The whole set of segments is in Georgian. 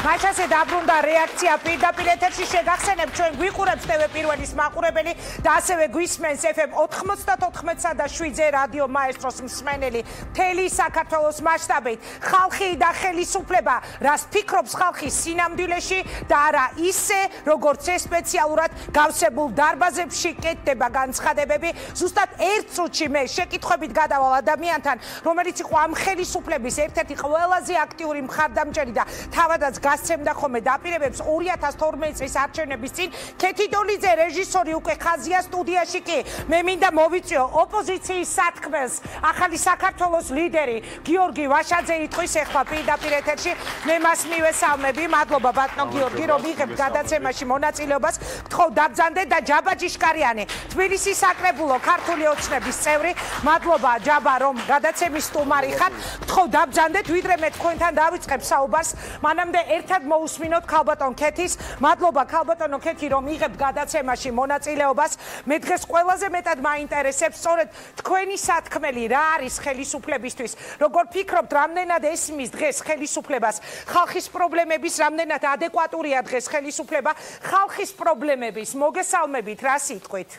მაშასე დაბრუნდა რეაქცია პირდაპირ ეთერში შეგახსენებთ ჩვენ გვიყურებთ TV პირველის მაყურებელი და ასევე გვისმენს FM 94.7 რადიო მაესტროს მსმენელი მთელი საქართველოს მასშტაბით ხალხი და ხელისუფლება რას ფიქრობს ხალხი სინამდვილეში და არა ისე როგორც ეს სპეციალურად გავსებულ დარბაზებში კეთდება განცხადებები ზუსტად ერთ წუთში მე შეკითხვებით გადავალ ადამიანთან რომელიც იყო ამ ხელისუფლების ერთ-ერთი ყველაზე აქტიური მხარდამჭერი და თავადაც გასცემდა ხოლმე დაპირებებს 2012 წლის არჩევნების წინ ქეთი დოლიძე რეჟისორი უკვე ხაზია სტუდიაში კი მე მინდა მოვიწვიო ოპოზიციის სათქმელს ახალი საქართველოს ლიდერი გიორგი ვაშაძე იტყვის ახლა პირდაპირ ეთერში მე მას მივესალმები მადლობა ბატონო გიორგი რომ იღებ გადაცემაში მონაწილეობას გთხოვ დაბრძანდეთ და ჯაბა ჯიშკარიანი თბილისის საკრებულო ქართული ოცნების წევრი მადლობა ჯაბა რომ გადაცემის სტუმარი ხარ გთხოვ დაბრძანდეთ ვიდრე მე თქვენთან დავიწყებ საუბარს მანამდე ერთად მოусმინოთ ქალბატონ ქეთის მადლობა ქალბატონო ქეთი რომ იღებთ გადაცემაში მონაწილეობას მე დღეს ყველაზე მეტად მაინტერესებს სწორედ თქვენი სათქმელი რა არის ხელისუფლებისთვის როგორ ფიქრობთ რამდენად ესმის დღეს ხელისუფლებას ხალხის პრობლემების რამდენად ადეკვატურია დღეს ხელისუფლება ხალხის პრობლემების მოგესალმებით რა სიტყვით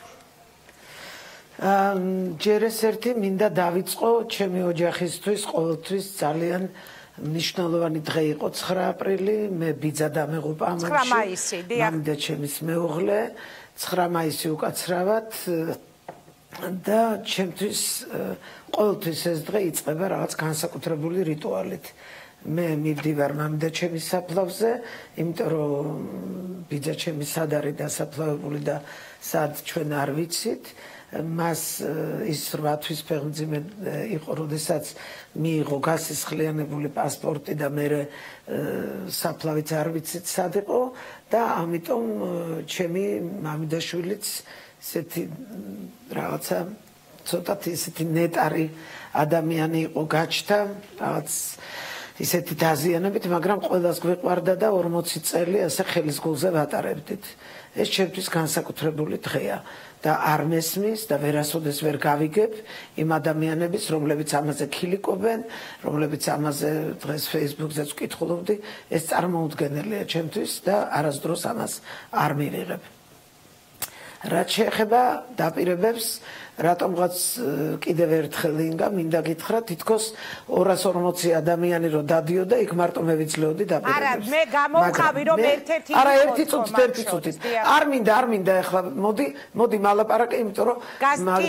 ჯერ ეს ერთი მინდა დავიწყო ჩემი ოჯახისთვის ყოველთვის ძალიან მნიშვნელოვანი დღე იყო 9 აპრილი მე ბიძა დამეღუპა ამაში 9 მაისი დიახ მამიდა ჩემის მეუღლე 9 მაისი უკაცრავად და ჩემთვის ყოველთვის ეს დღე იწყება რაღაც განსაკუთრებული რიტუალით მე მივდივარ მამიდა ჩემის საფლავზე იმიტომ რომ ბიძა ჩემი სად არის დასაფლავებული და სად ჩვენ არ ვიცით მას ის 8 თვის ფეხმძიმე იყო, როდესაც მიიღო გასისხლიანებული პასპორტი და მე საფლავიც არ ვიცით სად იყო და ამიტომ ჩემი მამიდაშვილიც ესეთი რაღაცა ცოტათი ესეთი ნეტარი ადამიანი იყო გაჩნდა რაღაც ისეთი დაზიანებით, მაგრამ ყველას გვეყვარდა და 40 წელი ასე ხელის გულზე ვატარებდით. ეს ჩემთვის განსაკუთრებული დღეა. და არ მესმის და ვერასოდეს ვერ გავიგებ იმ ადამიანების, რომლებიც ამაზე ქილიკობენ, რომლებიც ამაზე დღეს Facebook-ზეც ვკითხულობდი, ეს წარმოუდგენელია ჩემთვის და არასდროს ამას არ მივიღებ. რაც შეეხება დაპირებებს, რატომღაც კიდევ ერთხელ ინგა მინდა გითხრა, თითქოს 240 ადამიანი რო დადიოდა, იქ მარტო მე ვიძლეოდი დაპირებებს. არა, მე გამოვყავი რომ ერთ-ერთი არა, ერთი წუთით. არ მინდა ახლა მოდი მალაპარაკე, იმიტომ რომ მან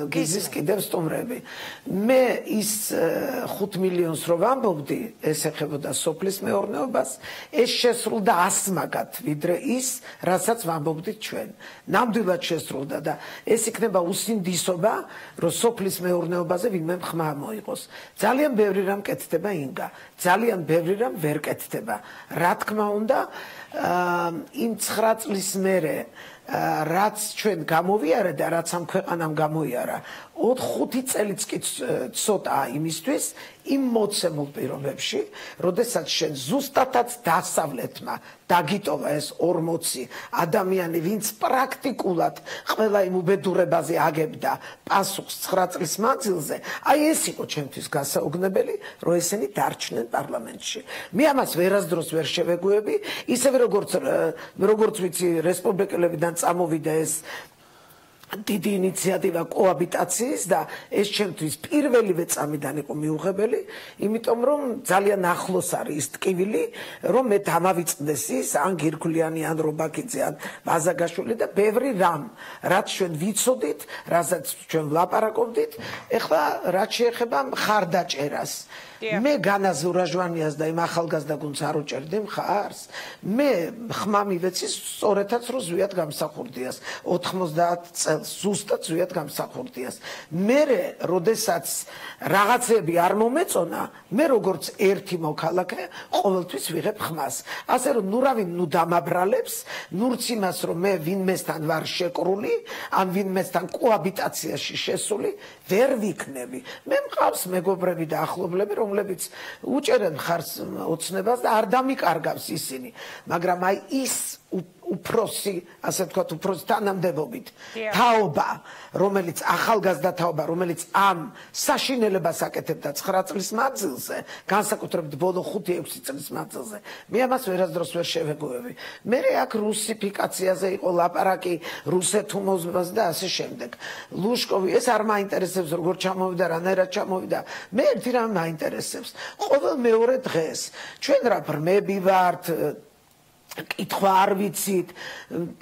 გიზის კიდევ სტუმრები. მე ის 5 მილიონს რო ვამბობდი, ეს ეხებოდა სოფლის მეურნეობას, ეს შესრულდა 100 მაგათ, ვიდრე ის, რასაც ვამბობდით ჩვენ. ნამდვილად შესრულდა და ეს იქნება უსინდისობა, რომ სოფლის მეურნეობაზე ვინმე ხმა მოიყოს. ძალიან ბევრი რამ კეთდება ინგა, ძალიან ბევრი რამ ვერ კეთდება. რა თქმა უნდა, იმ 9 წლის მერე რაც ჩვენ გამოვიარა და რაც ამ ქვეყანამ გამოიარა, 5 წელიც კი ცოტაა იმისთვის, იმ მოცემულ პირობებში, როდესაც შენ ზუსტადაც დასავლეთმა დაგიტოვა ეს 40 ადამიანი, ვინც პრაქტიკულად ყველა იმ უბედურებაზე აგებდა პასუხს 9 წლის მანძილზე, აი ეს იყო ჩემთვის გასაუგნებელი, რომ ესენი დარჩნენ პარლამენტში. მე ამას ვერასდროს ვერ შევეგუები, ისევე როგორც ვიცი, რესპუბლიკელებიდან წამოვიდა ეს დიდი ინიციატივა კოაბიტაციის და ეს ჩემთვის პირველივე წამიდან იყო მიუღებელი, იმიტომ რომ ძალიან ახლოს არის ის ტკივილი, რომ მე დამავიწყდეს ის ან გირგვლიანი ან რობაქიძე ან ბაზაგაშვილი და ბევრი რამ, რაც ჩვენ ვიცოდით, რასაც ჩვენ ვლაპარაკობდით, ეხლა რაც შეეხება მხარდაჭერას. მე განაზ ურაჟვანიას და იმ ახალგაზრდა გუნდს არ უჭერდი მხარს. მე ხმა მივეცი სწორედაც რომ ზვიად გამსახურდიას 90 წელს ზუსტად ზვიად გამსახურდიას. მე როდესაც რაღაცები არ მომეწონა, მე როგორც ერთი მოქალაქე ყოველთვის ვიღებ ხმას. ასე რომ ნუ დამაბრალებს, ნურც იმას რომ მე ვინმესთან ვარ შეკრული, ან ვინმესთან კოაბიტაციაში შესული, ვერ ვიქნები. მე მყავს მეგობრები და ახლობლები, რომლებიც უჭერენ ხარს ოცნებას და არ დამიკარგავს ისინი, მაგრამ აი ის უფროსი, ასე ვთქვათ, უფროსი თანამდებობით თაობა, რომელიც ახალგაზრდა თაობა, რომელიც ამ საშინელებას აკეთებდა 9 წლის მანძილზე, განსაკუთრებით ბოლო 5-6 წლის მანძილზე, მე ამას ვერასდროს ვერ შევეგუები. მე აქ რუსიფიკაციაზე იყო ლაპარაკი, რუსეთუმოზებას და ასე შემდეგ. ლუშკოვი ეს არ მაინტერესებს, როგორ ჩამოვიდა, რანაირად ჩამოვიდა. მე ერთი რამ მაინტერესებს. ყოველ მეორე დღეს ჩვენ რა ბრმები ვართ, კითხვა არ ვიცით.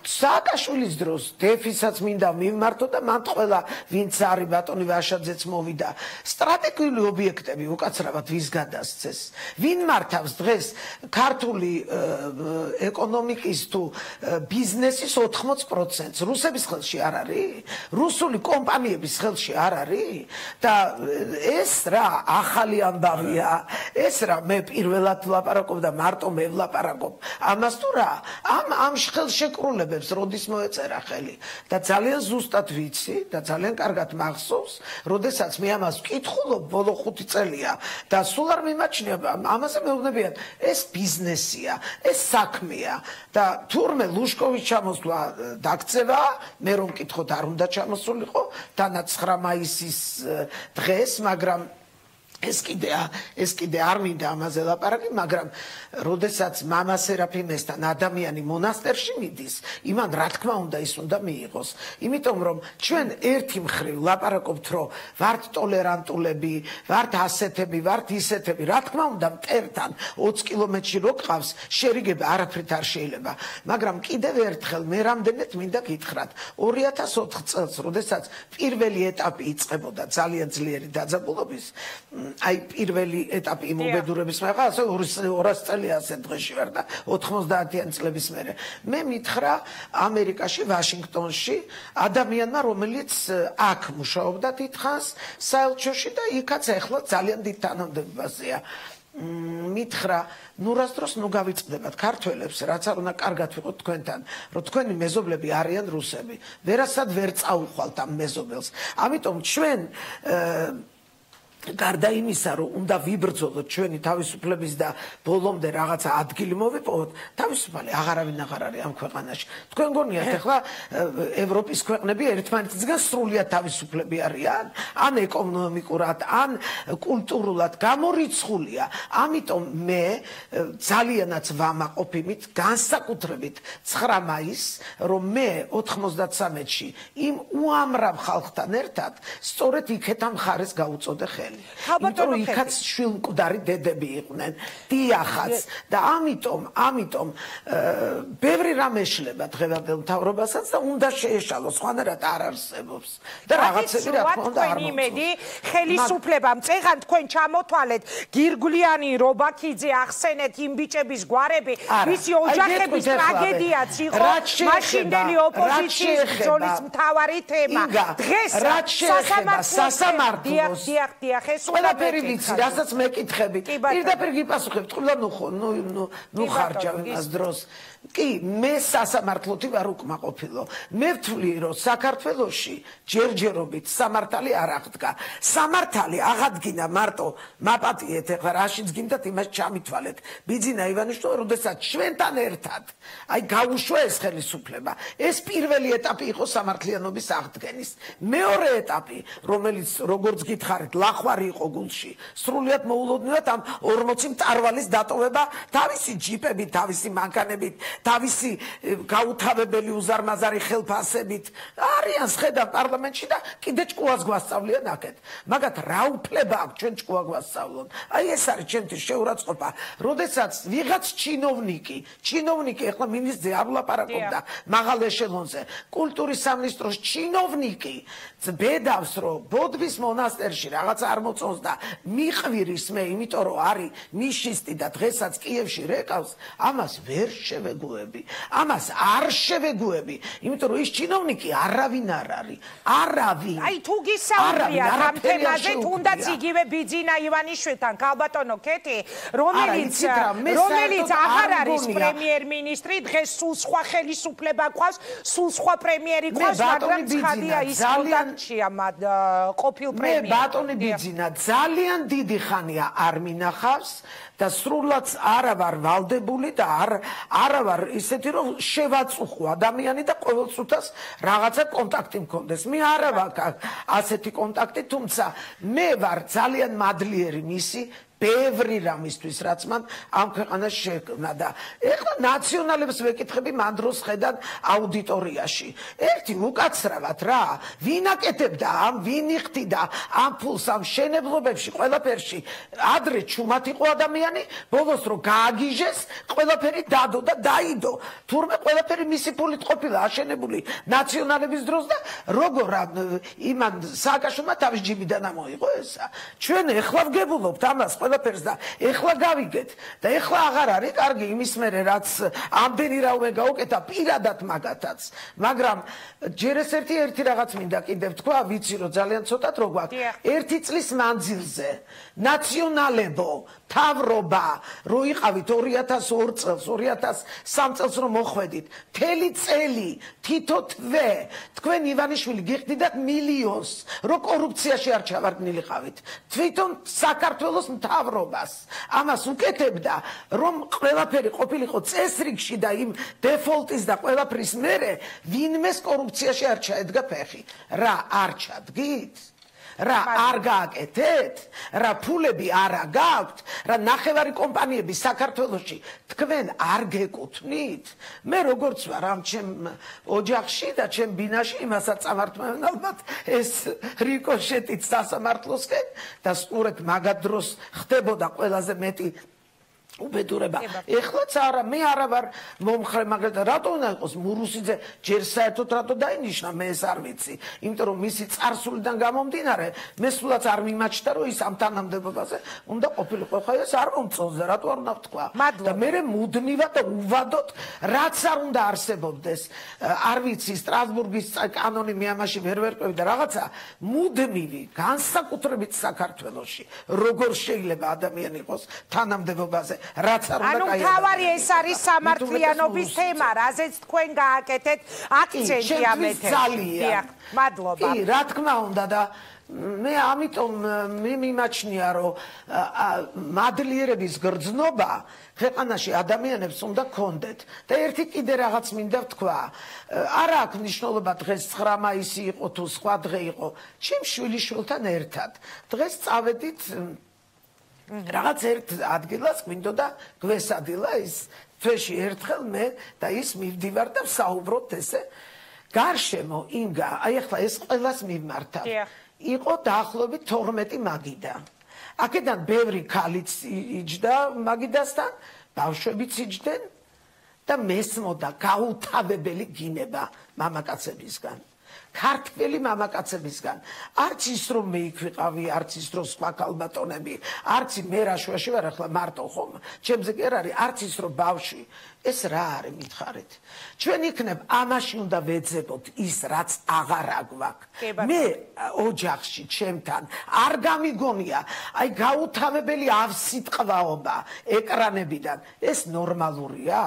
სააკაშვილის დროს დეფისაც მინდა მივმართო და მან ყველა ვინც არის ბატონი ვაშაძეც მოვიდა. სტრატეგიული ობიექტები უკაცრავად ვის გადასცეს? ვინ მართავს დღეს ქართული ეკონომიკის თუ ბიზნესის 80%-ს? რუსების ხელში არ არის? რუსული კომპანიების ხელში არ არის? და ეს რა ახალი ამბავია? ეს რა მე პირველად ვლაპარაკობ და მარტო მე ვლაპარაკობ. ამას ამ ხელშეკრულებებს როდის მოეწერა ხელი და ძალიან ზუსტად ვიცი და ძალიან კარგად მახსოვს, როდესაც მე ამას ვკითხულობ ბოლო 5 წელია და სულ არ მიმაჩნია ამაზე მეუბნებიან, ეს ბიზნესია, ეს საქმეა და თურმე ლუშკოვის ჩამოსვლა დაქცევა, მე რომ მკითხოთ არ უნდა ჩამოსულიყო დანა 9 მაისის დღეს, მაგრამ ეს კიდე არ მინდა ამაზე ლაპარაკი, მაგრამ როდესაც მამა სერაფიმესთან ადამიანი მონასტერში მიდის, იმან რა თქმა უნდა ის უნდა მიიღოს. იმიტომ რომ ჩვენ ერთი მხრივ ლაპარაკობთ, რომ ვართ ტოლერანტულები, ვართ ასეთები, ვართ ისეთები, რა თქმა უნდა მტერთან 20 კილომეტრში რო გყავს, შერიგება არაფრით არ შეიძლება. მაგრამ კიდევ ერთხელ მე რამდენად მინდა გითხრათ, 2004 წელს, როდესაც პირველი ეტაპი იწყებოდა ძალიან ძლიერი დაძაბულობის, აი პირველი ეტაპი იმობედურების მიღება, ასე 200 წელი ასე დღეში ვარ და 90-იან წლების მერე. მე მითხრა ამერიკაში, ვაშინგტონში ადამიანმა, რომელიც აქ მუშაობდა დიდხანს საელჩოში და იქაც ახლა ძალიან დიდ თანამდებობაზეა. მითხრა, ნუ რას დროს ნუ გავიწყდებათ ქართველებს, რაც არ უნდა კარგად ვიყოთ თქვენთან, რომ თქვენი მეზობლები არიან რუსები. ვერასად ვერ წაუხვალთ ამ მეზობელს. ამიტომ ჩვენ გარდა იმისა, რომ უნდა ვიბრძოლოთ ჩვენი თავისუფლების და ბოლომდე რაღაცა ადგილი მოვიპოვოთ, თავისუფალი აღარავინ აღარ არის ამ ქვეყანაში. თქვენ გონიათ ახლა ევროპის ქვეყნები ერთმანეთისგან სრულიად თავისუფლები არიან, ან ეკონომიკურად, ან კულტურულად გამორიცხულია. ამიტომ მე ძალიანაც ვამაყობ იმით, განსაკუთრებით 9 მაისს, რომ მე 93-ში იმ უამრავ ხალხთან ერთად სწორედ იქეთ ამ ხარეს გაუწოდე ხელი. იმიტომ რომ იქაც შვილმკვდარი დედები იყვნენ, დიახაც და ამიტომ ბევრი რამ ეშლება დღევანდელ მთავრობასაც და უნდა შეეშალოს, სხვანაირად არ არსებობს და რაღაცები რა თქმა უნდა არ მოწონს. ხელისუფლებამ წეღან თქვენ ჩამოთვალეთ გირგვლიანი, რობაქიძე ახსენეთ იმ ბიჭების გვარები, ვისი ოჯახების ტრაგედიაც იყო მაშინდელი ოპოზიციის ბრძოლის მთავარი თემა. დღეს სასამართლოს ყველაფერი ვიცი, რასაც მეკითხები. პირდაპირ გიპასუხებთ, ყველა ნუ ხარჯავ იმას დროს. კი, მე სასამართლოთი ვარ უკმაყოფილო. მე ვთვლი, რომ საქართველოში ჯერჯერობით სამართალი არ აღდგა. სამართალი აღადგინა მარტო მაპატიეთ, ეხლა რაშიც გინდათ იმას ჩამითვალეთ. ბიძინა ივანიშვილმა, როდესაც ჩვენთან ერთად აი გაუშვა ეს ხელისუფლება. ეს პირველი ეტაპი იყო სამართლიანობის აღდგენის. მეორე ეტაპი, რომელიც როგორც გითხარით, ლახვარი იყო გულში. სრულიად მოულოდნელად ამ 40 მწარვალის დატოვება თავისი ჯიპებით, თავისი მანქანებით, თავისი გაუთავებელი უზარმაზარი ხელფასებით არიან შედავ პარლამენტში და კიდე ჭკუას გვასწავლიან აქეთ. მაგათ რა უფლება აქვს ჩვენ ჭკუა გვასწავლონ? აი ეს არის ჩემთვის შეურაცხყოფა. როდესაც ვიღაც ჩინოვნიკი ახლა მინისტრზე არ ვლაპარაკობდა მაღალ ეშელონზე, კულტურის სამინისტროს ჩინოვნიკი ბედავს, რომ ბოდბის მონასტერში რაღაცა არ მოწონს და მიყვირის მე, იმიტომ რომ არის ნიშისტი და დღესაც კიევში რეკავს, ამას ვერ შევეგუები. ამას არ შევეგუები, იმიტომ რომ ის ჩინოვნიკი არავინ არ არის. არავინ. აი თუ გისაუბრიათ ამ თემაზე, თუნდაც იგივე ბიძინა ივანიშვილთან, ქალბატონო ქეთი, რომელიც აღარ არის პრემიერ-მინისტრი, დღეს სულ სხვა ხელისუფლება გვყავს, სულ სხვა პრემიერი გვყავს, მაგრამ ცხადია ის კონტაქტშია ყოფილ პრემიერ. მე ბატონი ბიძინა ბენზინა ძალიან დიდი ხანია არ მინახავს და სრულად არა ვარ ვალდებული და არა ვარ ისეთი რომ შევაწუხო ადამიანი და ყოველწუთას რაღაცა კონტაქტი მქონდეს. მე არა ვაქვს ასეთი კონტაქტი, თუმცა მე ვარ ძალიან მადლიერი მისი ბევრი რამისთვის, რაც მან ამ ქვეყანაში შექმნა და ეხლა ნაციონალებს ვეკითხები მან დროს ხედან აუდიტორიაში. ერთი უკაცრავად რა, ვინ აკეთებდა ამ, ვინ იხდიდა ამ ფულს ამ მშენებლობებში, ყველაფერში ადრე ჩუმად იყო ადამიანი, ბოლოს რო გააგიჟეს, ყველაფერი დადო და დაიდო. თურმე ყველაფერი მისი ფულით ყოფილა აშენებული ნაციონალების დროს და როგორ იმან სააკაშვილმა თავის ჯიბიდან ამოიღო ესა. ჩვენ ეხლა ვგებულობთ ამას ყველაფერს და ეხლა გავიგეთ და ეხლა აღარ არის კარგი იმის მერე რაც ამდენი რაიმე გაუკეთა პირადად მაგათაც, მაგრამ ჯერ ეს ერთი რაღაც მინდა კიდევ თქვა, ვიცი რომ ძალიან ცოტად რო გვაქვს, ერთი წლის მანძილზე ნაციონალებო თავრობა რო იყავით 2002 წელს, 2003 წელს რომ მოხვედით, მთელი წელი თითო თვე თქვენ ივანიშვილი გიხდიდათ მილიონს, რო კორუფციაში არ ჩავარდნილიყავით, თვითონ საქართველოს მთავრობას ამას უკეთებდა, რომ ყველაფერი ყოფილიყო წესრიგში და იმ დეფოლტის და ყველაფრის მერე ვინმეს კორუფციაში არ ჩაედგა ფეხი. რა არ ჩადგით? რა არ გააკეთეთ? რა ფულები არა გაქვთ? რა ნახევარი კომპანიები საქართველოში თქვენ არ გეკუთვნით? მე როგორც ვარ ამ ჩემ ოჯახში და ჩემ ბინაში იმასაც წამართმევენ ალბათ ეს რიკოშეტით სასამართლოსკენ და სწორედ მაგად დროს ხდებოდა ყველაზე მეტი უბედურება. ეხლაც არა, მე არა ვარ მომხრე, მაგრამ რატო უნდა იყოს მურუსიძე ჯერ საერთოდ რატო დაინიშნა, მე ეს არ ვიცი. იმიტომ რომ მისი წარსულიდან გამომდინარე, მე სულაც არ მიმაჩნდა რომ ის ამ თანამდებობაზე უნდა ყოფილიყო. ხო ეს არ მომწონს და რატო არ უნდა ვთქვა. და მე მუდმივად და უვადოდ რაც არ უნდა არსებობდეს, არ ვიცი, სტრასბურგის კანონი მე ამაში ვერ ვერკვევი და რაღაცა მუდმივი განსაკუთრებით საქართველოში როგორ შეიძლება ადამიანი იყოს თანამდებობაზე რაც არ უნდა კაი. ანუ თავარი ეს არის სამართლიანობის თემა, რაზეც თქვენ გააკეთეთ აქცენტი ამ ეთერში. მადლობა. კი, რა თქმა უნდა და მე ამიტომ მე მიმაჩნია რომ მადლიერების გრძნობა ქვეყანაში ადამიანებს უნდა გქონდეთ და ერთი კიდე რაღაც მინდა ვთქვა. არა აქვს მნიშვნელობა დღეს 9 მაისი იყო თუ სხვა დღე იყო. ჩემ შვილიშვილთან ერთად დღეს წავედით რაღაც ერთ ადგილას გვინდოდა გვესადილა ის თვეში ერთხელ მე და ის მივდივარ და ვსაუბრობთ ესე გარშემო ინგა აი ახლა ეს ყველას მიმართავ იყო დაახლოებით 12 მაგიდა აქედან ბევრი ქალიც იჯდა მაგიდასთან ბავშვებიც იჯდნენ და მესმოდა გაუთავებელი გინება მამაკაცებისგან ქართველი მამაკაცებისგან არც ის რომ მე იქ ვიყავი არც ის რომ სხვა ქალბატონები არც მე რაშვაში ვარ ახლა მარტო ხომ ჩემზე კი არ არის არც ის რომ ბავშვი ეს რა არის მითხარით ჩვენ იქნებ ამაში უნდა ვეძებოთ ის რაც აღარ აგვაქვს მე ოჯახში ჩემთან არ გამიგონია აი გაუთავებელი ავსიტყვაობა ეკრანებიდან ეს ნორმალურია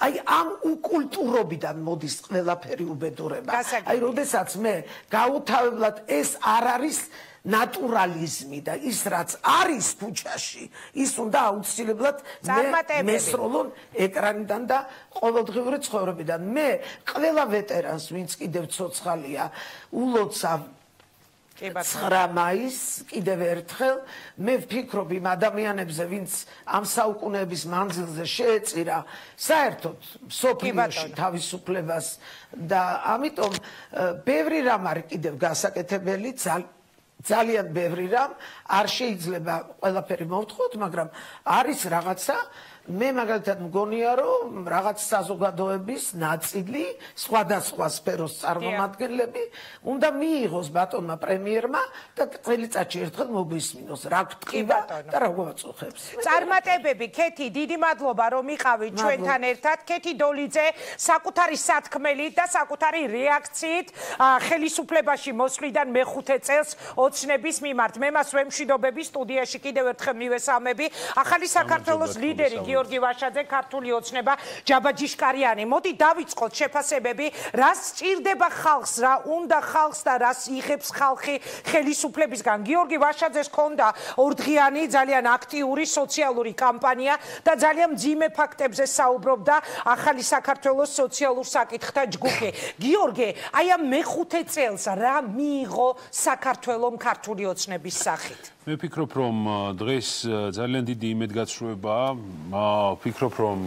აი ამ უკულტურობიდან მოდის ყველაფერი უბედურება აი როდესაც მე გაუთავებლად ეს არ არის ნატურალიზმი და ის რაც არის ქუჩაში ის უნდა აუცილებლად მესროლონ ეკრანიდან და ყოველდღიური ცხოვრებიდან მე ყველა ვეტერანს ვინც კიდევ ცოცხალია ულოცავ 9 მაისს კიდევ ერთხელ მე ვფიქრობ იმ ადამიანებზე ვინც ამ საუკუნეების მანძილზე შეეწირა საერთოდ სოფლიოში თავისუფლებას და ამიტომ ბევრი რამ არის კიდევ გასაკეთებელი ძალიან ბევრი რამ არ შეიძლება ყველაფერი მოვთხოვოთ მაგრამ არის რაღაცა მე მაგალითად მგონია რომ რაღაც საზოგადოების ნაწილი სხვადასხვა სფეროს წარმომადგენლები უნდა მიიღოს ბატონმა პრემიერმა და წელიწადში ერთხელ მოგვისმინოს რა გტყივა და რა გვაწუხებს წარმატებები ქეთი დიდი მადლობა რომ იყავით ჩვენთან ერთად ქეთი დოლიძე საკუთარი სათქმელით და საკუთარი რეაქციით ხელისუფლებაში მოსვლიდან მე-5 წელს ოცნების მიმართ მე მას ვემშვიდობები სტუდიაში კიდევ ერთხელ მივესალმები ახალი საქართველოს ლიდერი გიორგი ვაშაძე, ქართული ოცნება, ჯაბაჯიშკარიანი. მოდი დავიწყოთ შეფასებები, რას სჭირდება ხალხს, რა უნდა ხალხს და რას იღებს ხალხი ხელისუფლებისგან. გიორგი ვაშაძეს ჰქონდა ორდღიანი ძალიან აქტიური სოციალური კამპანია და ძალიან მძიმე ფაქტებზე საუბრობდა ახალი საქართველოს სოციალურ საკითხთა ჯგუფი. გიორგი, აი ამ მეხუთე წელს რა მიიღო საქართველოს ქართული ოცნების სახით? მე ვფიქრობ, რომ დღეს ძალიან დიდი იმედგაცრუებაა. ვფიქრობ, რომ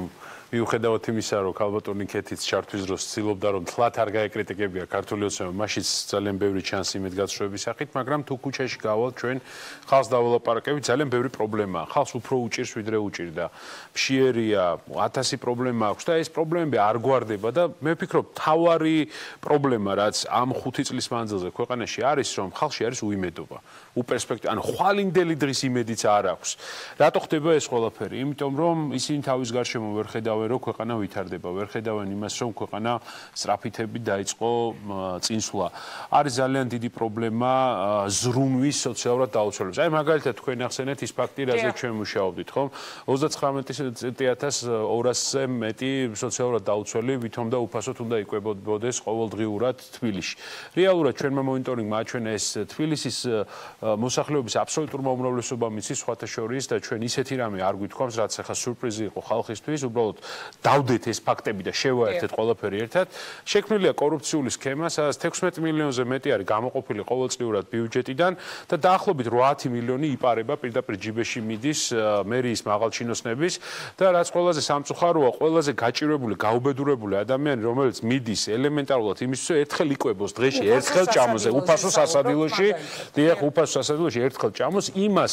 მიუხედავად იმისა, რომ ქალბატონი ქეთიც ჩართვის დროს ცდილობდა, რომ თლათ არ გაეკრიტიკებია ქართული ოცნება, მაშიც ძალიან ბევრი ჩანს იმედგაცრუების სახით, მაგრამ თუ ქუჩაში გავალთ ჩვენ ხალხს დავალაპარაკებით, ძალიან ბევრი პრობლემაა. ხალხს უფრო უჭირს, ვიდრე უჭირდა. მშიერია, 1000 პრობლემა აქვს და ეს პრობლემები არ გვარდება და მე ვფიქრობ, თავარი პრობლემა, რაც ამ 5 წლის მანძილზე ქვეყანაში არის, რომ ხალხში არის უიმედობა. უპერსპექტივა, ანუ ხვალინდელი დღის იმედიც არ აქვს. რატო ხდება ეს ყველაფერი? იმიტომ რომ ისინი თავის გარშემო ვერ ხედავენ, რომ ქვეყანა ვითარდება, ვერ ხედავენ იმას, რომ ქვეყანა სწრაფითებით დაიწყო წინსვლა. არის ძალიან დიდი პრობლემა ზრუნვის სოციალურად დაუცველებს. აი მაგალითად თქვენ ახსენეთ ის ფაქტი, რაზე ჩვენ მუშაობდით, ხომ? 39,200-ზე მეტი სოციალურად დაუცველი ვითომ და უფასოდ უნდა იკვებოდეს ყოველდღიურად თბილისში. რეალურად ჩვენმა მონიტორინგმა აჩვენა ეს თბილისის მოსახლეობის აბსოლუტურმა უმრავლესობამ იცის სხვათა შორის და ჩვენ ისეთი რამე არ გვითხოვს, რაც ახლა სიურპრიზი იყო ხალხისთვის, უბრალოდ დავდეთ ეს ფაქტები და შევაერთეთ ყველაფერი ერთად. შექმნილია კორუფციული სქემა, სადაც 16 მილიონზე მეტი არის გამოყოფილი ყოველწლიურად ბიუჯეტიდან და დაახლოებით 8 მილიონი იპარება პირდაპირ ჯიბეში მიდის მერიის მაღალჩინოსნების და რაც ყველაზე სამწუხაროა, ყველაზე გაჭირვებული, გაუბედურებული ადამიანი, რომელიც მიდის ელემენტარულად იმისთვის, ერთხელ იკვებოს დღეში, ერთხელ ჭამოს უფასო სასადილოში, დიახ, უფასო სასადილოში ერთხელ ჭამოს, იმას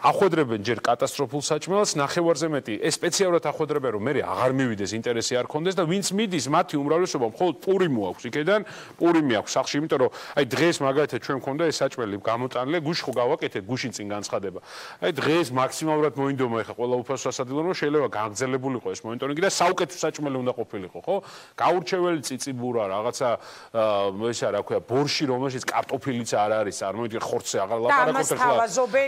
ახვედრებენ ჯერ კატასტროფულ საჭმელს, ნახევარზე მეტი ეს სპეციალურად ახვედრებენ, რომ მე აღარ მივიდეს, ინტერესი არ ქონდეს და ვინც მიდის, მათი უმრავლესობა მხოლოდ პური მოაქვს იქიდან, პურიმი აქვს სახში, იმიტომ რომ აი დღეს მაგალითად ჩვენ მქონდა ეს საჭმელი გამოტანილი, გუშინ ხო გავაკეთეთ, გუშინ წინ განცხადება. აი დღეს მაქსიმალურად მოინდომა ეხა ყველა უფასო სასადილო, რომ შეიძლება გაგრძელებულიყო ეს მონიტორინგი და საუკეთესო საჭმელი უნდა ყოფილიყო, ხო? გაურჩეველი წიწიბურა, რაღაცა ესა რა ქვია, ბორში, რომელშიც კარტოფილიც არ არის, წარმოიდგინე ხორცზე აღარ ლაპარაკობთ ახლა.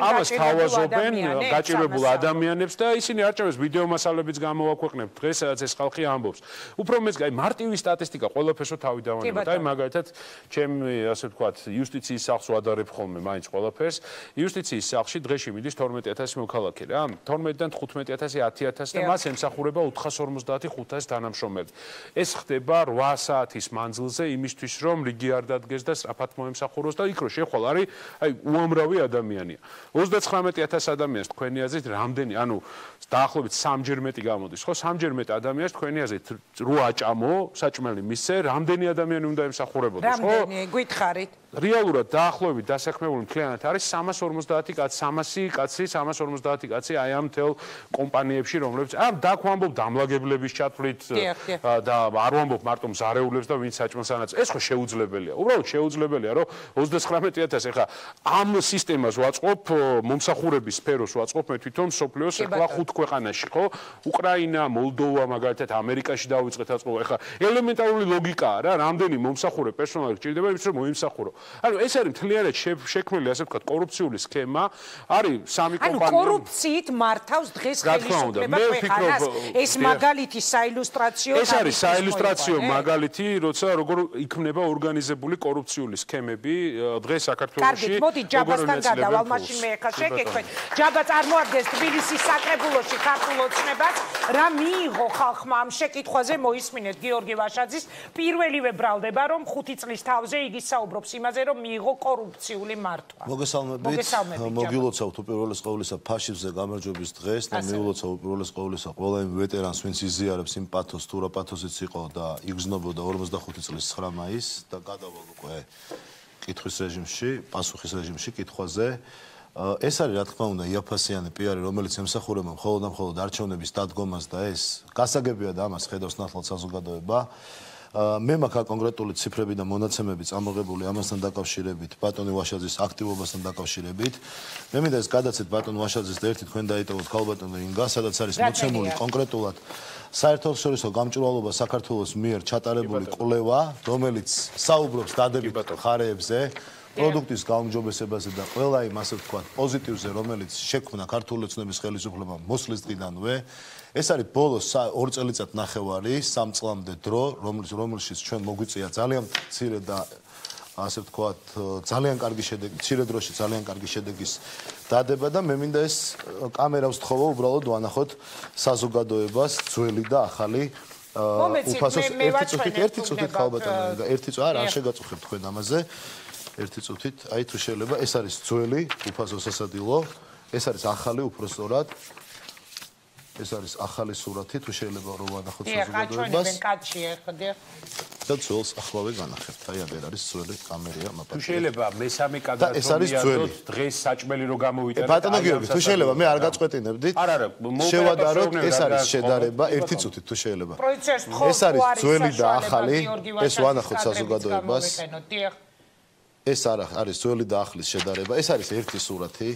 ამას თავაზობენ გაჭირვებულ ადამიანებს და ისინი არჩევს ვიდეო მასალებიც გამოვაქვეყნებთ დღეს, სადაც ეს ხალხი ამბობს. უფრო მეც აი მარტივი სტატისტიკა ყველაფერსო თავი დავანებოთ. აი მაგალითად, ჩემი ასე ვთქვათ, იუსტიციის სახლს ვადარებ ხოლმე მაინც ყველაფერს. იუსტიციის სახლში დღეში მიდის 12000 მოქალაქე რა. 12-დან 15,000, 10,000 და მას ემსახურება 450-500 თანამშრომელი. ეს ხდება 8 საათის მანძილზე იმისთვის, რომ რიგი არ დადგეს და სწრაფად მოემსახუროს და იქ რო შეხვალ არის აი უამრავი ადამიანია. 39,000 ადამიანს თქვენი აზრით რამდენი, ანუ დაახლოებით 3-ჯერ მეტი გამოდის, ხო? 3-ჯერ მეტ ადამიანს თქვენი აზრით რო აჭამო, საჭმელი მისცე, რამდენი ადამიანი უნდა ემსახურებოდეს, ხო? რამდენი გითხარით? რეალურად დაახლოებით დასაქმებული მთლიანად არის 350 კაცი, 350 კაცი აი ამ თელ კომპანიებში, რომლებიც ამ დაქვამბობ დამლაგებლების ჩათვლით და არ ვამბობ მარტო მზარეულებს და ვინც საჭმელს ანაწილებს. ეს ხო შეუძლებელია. უბრალოდ შეუძლებელია, რომ 39,000 ეხლა ამ სისტემას ვაწყობ, მომსახურების სფეროს ვაწყობ მე თვითონ სოფლიოს ეხლა 5 ქვეყანაში, ხო? უკრაინა, მოლდოვა, მაგალითად ამერიკაში დავიწყეთ აწყობა. ეხლა ელემენტარული ლოგიკაა რა, რამდენი მომსახურე პერსონალი გჭირდება იმის რომ მოიმსახურო. ანუ ეს არის მთლიანად შექმნილი, ასე ვთქვათ, კორუფციული სქემა. არის 3 კომპანია. ანუ კორუფციით მართავს დღეს ხელისუფლება ქვეყანას. ეს მაგალითი საილუსტრაციო. ეს არის საილუსტრაციო მაგალითი, როცა როგორ იქმნება ორგანიზებული კორუფციული სქემები დღეს საქართველოში. კარგი, მოდი ჯაბასთან გადავალ, მაშინ მე ახლა შეგეხვენ. ჯაბა წარმოადგენს თბილისის საკრებულოში ქართულ ოცნებას. რა მიიღო ხალხმა ამ შეკითხვაზე მოისმინეთ გიორგი ვაშაძის პირველივე ბრალდება, რომ 5 წლის თავზე იგი საუბრობს იმაზე, რომ მიიღო კორუფციული მართვა. მოგესალმებით. მოგილოცავთ უპირველეს ყოვლისა ფაშიზმზე გამარჯვების დღეს და მიულოცავ უპირველეს ყოვლისა ყველა იმ ვეტერანს, ვინც იზიარებს იმ პათოს, თუ რა პათოსიც იყო და იგრძნობოდა 45 წლის 9 მაისს და გადავალ უკვე კითხვის რეჟიმში, პასუხის რეჟიმში კითხვაზე. ეს არის რა თქმა უნდა იაფასიანი პიარი, რომელიც ემსახურება მხოლოდ და მხოლოდ არჩევნების დადგომას და ეს გასაგებია და ამას ხედავს ნათლად საზოგადოება. მე მაქვს კონკრეტული ციფრები და მონაცემები წამოღებული ამასთან დაკავშირებით, ბატონი ვაშაძის აქტივობასთან დაკავშირებით. მე მინდა ეს გადაცეთ ბატონ ვაშაძეს და ერთი თქვენ დაიტოვოთ ქალბატონ რინგა, სადაც არის მოცემული კონკრეტულად საერთაშორისო გამჭვირვალობა საქართველოს მიერ ჩატარებული კვლევა, რომელიც საუბრობს დადებით მხარეებზე. პროდუქტის გაუმჯობესებაზე და ყველა იმ ასე ვთქვათ პოზიტივზე, რომელიც შექმნა ქართული ოცნების ხელისუფლებამ მოსვლის დღიდანვე. ეს არის ბოლოს 2 წელიწად ნახევარი 3 წლამდე დრო რომელშიც ჩვენ მოგვიწია ძალიან მცირე და ასე ვთქვათ ძალიან კარგი შედეგი მცირე დროში ძალიან კარგი შედეგის დადება და მე მინდა ეს კამერას ვთხოვო უბრალოდ ვანახოთ საზოგადოებას ძველი და ახალი უფასოს ერთი წუთით ხალბატონო ერთი წუთი არ შეგაწუხებთ თქვენ ამაზე ერთი წუთით აი თუ შეიძლება ეს არის ძველი უფასო სასადილო ეს არის ახალი უბრალოდ ეს არის ახალი სურათი თუ შეიძლება რომ ვანახოთ საზოგადოებას და ძველს ახლავე განახებთ აი აღარ არის ძველი კამერა მაპატი თუ შეიძლება მესამე კადრად რომ დღეს საჭმელი რო გამოვიტანოთ ბატონო გიორგი თუ შეიძლება მე არ გაწყვეტინებდით შევადაროთ ეს არის შედარება ერთი წუთით თუ შეიძლება ეს არის ძველი და ახალი ეს ვანახოთ საზოგადოებას ეს არის ძველი და ახლის შედარება ეს არის ერთი სურათი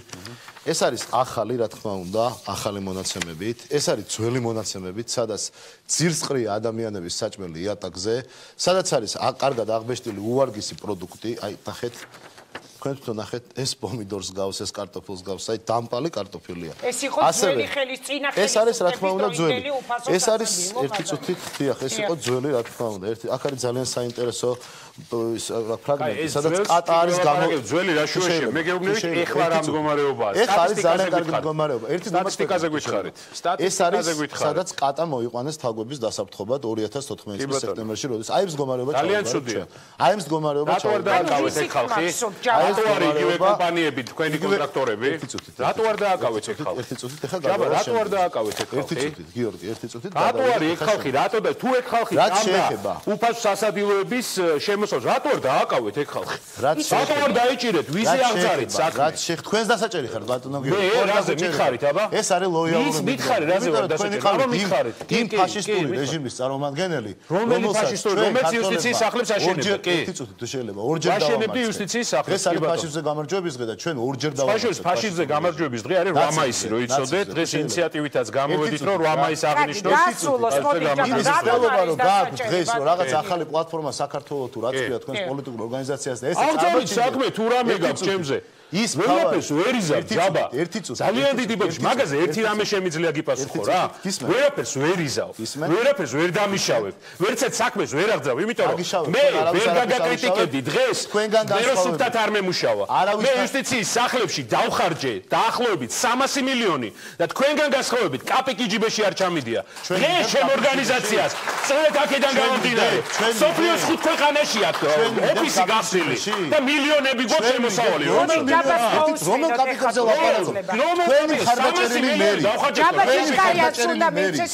ეს არის ახალი რა თქმა უნდა ახალი მონაცემებით ეს არის ძველი მონაცემებით სადაც ძირსყრია ადამიანების საჭმელი იატაკზე სადაც არის კარგად აღბეჭდილი უვარგისი პროდუქტი აი ნახეთ თქვენ თვითონ ნახეთ ეს პომიდორს გავს ეს კარტოფილს გავს აი დამპალი კარტოფილია ეს იყო ძველი ხელის წინა ხელის ეს არის რა თქმა უნდა ძველი ეს არის ერთი წუთით დიახ ეს იყო ძველი რა თქმა უნდა ერთი აქ არის ძალიან საინტერესო ფრაგმენტი სადაც კატა არის ძველი რა შუაში მე გეუბნებით ეხლა რა მდგომარეობაა ეს არის ძალიან კარგი მდგომარეობა ერთი სტატისტიკაზე გვითხარით ეს არის სადაც კატა მოიყვანეს თაგვების დასაფრთხობად 2014 წლის სექტემბერში როდის აი ეს მდგომარეობა ძალიან ცუდია აი ეს მდგომარეობა რატო არ დააკავეთ ეს ხალხი რატო არ იგივე კომპანიები თქვენი კონტრაქტორები რატო არ დააკავეთ ეს ხალხი ერთი წუთით ეხა ჯაბა რატო არ დააკავეთ ეს ხალხი ერთი წუთით გიორგი ერთი წუთით რატო არის ეს ხალხი რატო და თუ ეს ხალხი შეეხება უფასო სასადილოების შემოსავს რატო არ დააკავეთ ეს ხალხი რატო არ დაიჭირეთ ვიზე აღძარით საქმე რაც თქვენს დასაჭერი ხართ ბატონო გიორგი მე რაზე მითხარით აბა ეს არის ლოიალურობა ის მითხარი რაზე ვარ დასაჭერი აბა მითხარით იმ ფაშისტური რეჟიმის წარმომადგენელი რომელი ფაშისტური რომელიც იუსტიციის სახლებს აშენებდა კი ერთი წუთით თუ შეიძლება ორჯერ აშენებდი იუსტიციის სახლებს ეს არის ფაშიზმზე გამარჯვების დღე და ჩვენ ორჯერ დავამარცხეთ ფაშიზმზე გამარჯვების დღე არის 8 მაისი რო იცოდეთ დღეს ინიციატივითაც გამოვედით რომ 8 მაისი აღნიშნოს იმის ხელობა რომ გააქვთ დღეს რომ რაღაც ახალი პლატფორმა საქართველოს თუ რაც ქვია თქვენს პოლიტიკურ ორგანიზაციას და ეს აღწევით საქმე თუ რამე გაქვს ჩემზე ის ვერაფერს ვერ იზამ ჯაბა ძალიან დიდი ბოჭი მაგაზე ერთი რამე შემიძლია გიპასუხო რა ვერაფერს ვერ იზავ ვერაფერს ვერ დამიშავებ ვერცად საქმეს ვერ აღძრავ იმიტომ რომ მე ვერ გაგაკრიტიკებდი დღეს მე რო სუფთად არ მემუშავა მე იუსტიციის სახლებში დავხარჯე დაახლოებით 300 მილიონი და თქვენგან გასხოვებით კაპიკი ჯიბეში არ ჩამიდია დღეს ჩემ ორგანიზაციას წვეთ აქედან გამომდინარე სოფლიოს 5 ქვეყანაში აქვს ოფისი გახსნილი და მილიონები გვაქვს შემოსავალი რომელ კაპიკებზე ლაპარაკობ? თქვენი ხარდაჭერილი მერი. ჯაბაჯის კარიაც უნდა მეცეს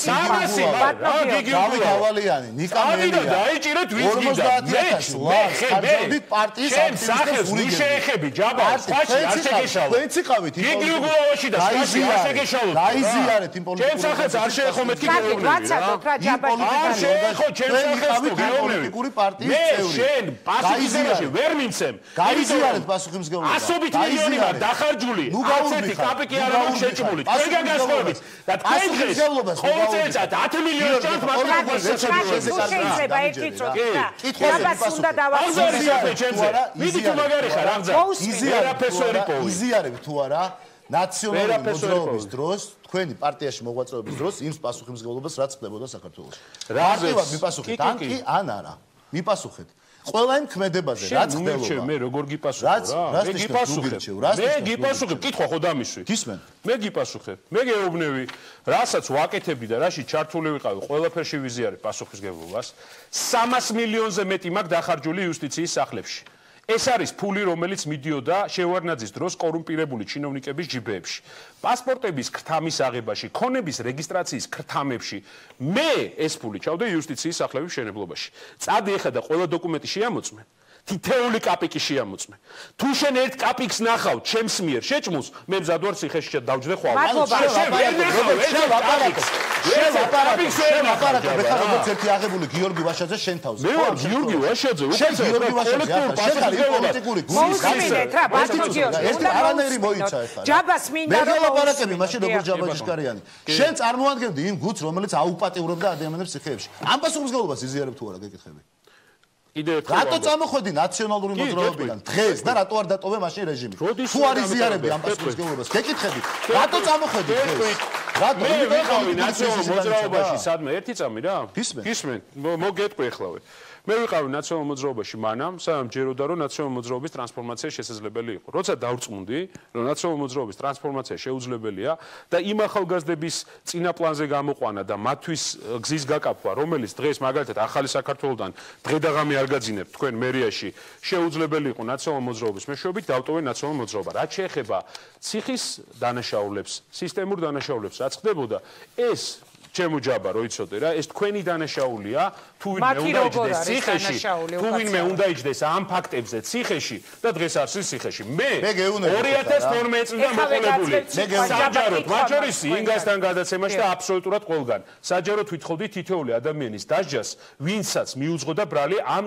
დავით ავალიანი, ნიკა მერია. დაიჭირეთ ვინც გიდა. 50,000 ლარს ხარჯავდით პარტიის აქტივისტებს უშეეხები ჯაბა, სხვაში არ შეგეშალოთ. თქვენც იყავით იმ გიგრუგულოვაში და სხვაში არ შეგეშალოთ. დაიზიარეთ იმ პოლიტიკურ. ჩემ სახელს არ შეეხო მეთქი გეუბნები. არ შეეხო ჩემ სახელს პოლიტიკური პარტიის წევრი. შენ პასუხისმგებლობაში ვერ მიმცემ. გაიზიარეთ პასუხისმგებლობა. ასობით მილიონი ვარ დახარჯული. ასეთი კაპიკი არ აქვს შეჭმული. თქვენგან გასხოვებით და თქვენ დღეს ყოველწელიწად 10 მილიონი ჭამთ მაგრამ შეიძლება ერთი წუთი. კითხავს უნდა დავახსოვს. მიდი თუ მაგარი ხარ აღძა. იზიარებ თუ არა ნაციონალური მოძრაობის დროს თქვენი პარტიაში მოღვაწეობის დროს იმ პასუხისმგებლობას რაც ხდებოდა საქართველოში. პარტიულად მიპასუხეთ ან კი ან არა. მიპასუხეთ. ყველა იმ ქმედებაზე რაც ხდებოდა. მე როგორ გიპასუხებ რა? მე გიპასუხებ. მე გიპასუხებ, კითხვა ხო დამისვი. გისმენ? მე გიპასუხებ. მე გეუბნები, რასაც ვაკეთებდი და რაში ჩართული ვიყავი, ყველაფერში ვიზიარებ პასუხისმგებლობას. 300 მილიონზე მეტი მაქვს დახარჯული იუსტიციის სახლებში. ეს არის ფული, რომელიც მიდიოდა შევარდნაძის დროს კორუმპირებული ჩინოვნიკების ჯიბეებში. პასპორტების ქრთამის აღებაში, ქონების რეგისტრაციის ქრთამებში. მე ეს ფული ჩავდა იუსტიციის სახლების მშენებლობაში. წადი ეხლა და ყველა დოკუმენტი შეამოწმე. თითეული კაპიკი შეამოწმე. თუ შენ ერთ კაპიკს ნახავ ჩემს მიერ შეჭმულს, მე მზად ვარ ციხეში დავჯდე ხვალ. შევაპარაკე, მე ხარ როგორც ერთი აღებული გიორგი ვაშაძე შენ თავზე. მე ვარ გიორგი ვაშაძე, შენ გიორგი ვაშაძე, შენ ხარ პოლიტიკური გუნდის მოუსმინეთ რა, ბატონო გიორგი. ერთი არანაირი მოიცა ეხლა. ჯაბას მინდა რომ ლაპარაკები, მაშინ როგორ ჯაბაჯიშკარიანი. შენ წარმოადგენდი იმ გუნდს, რომელიც აუპატიურებდა ადამიანებს ციხეებში. ამ პასუხისმგებლობას იზიარებ თუ არა, გეკითხები. რატო წამოხვედი ნაციონალური მოძრაობიდან დღეს და რატო არ დატოვე მაშინ რეჟიმი? თუ არ იზიარები ამ პასუხისმგებლობას, გეკითხები. რატო წამოხვედი დღეს? მე ვიყავი ნაციონალურ მოძრაობაში სადმე ერთი წამი რა გისმენ მოგეტყვი ახლავე მე ვიყავი ნაციონალურ მოძრაობაში მანამ სანამ ჯეროდა რომ ნაციონალურ მოძრაობის ტრანსფორმაცია შესაძლებელი იყო როცა დავწმუნდი რომ ნაციონალურ მოძრაობის ტრანსფორმაცია შეუძლებელია და იმ ახალგაზრდების წინაპლანზე გამოყვანა და მათთვის გზის გაკაფვა რომელიც დღეს მაგალითად ახალი საქართველოსთან დღე და ღამე არ გაძინებთ თქვენ მერიაში შეუძლებელი იყო ნაციონალურ მოძრაობის მეშვეობით დავტოვე ნაციონალურ მოძრაობა რაც შეეხება ციხის დანაშაულებს სისტემურ დანაშაულებს რაც ხდებოდა ეს ჩემო ჯაბა რო იცოდე რა ეს თქვენი დანაშაულია თუ ვინმე უნდა იჯდეს ციხეში თუ ვინმე უნდა იჯდეს ამ ფაქტებზე ციხეში და დღეს არის ციხეში მე 2012 წლიდან მოყოლებული საჯაროდ მათ შორის ინგასთან გადაცემაში და აბსოლუტურად ყველგან საჯაროდ ვითხოვდი თითოეული ადამიანის დასჯას ვინცაც მიუძღოდა ბრალი ამ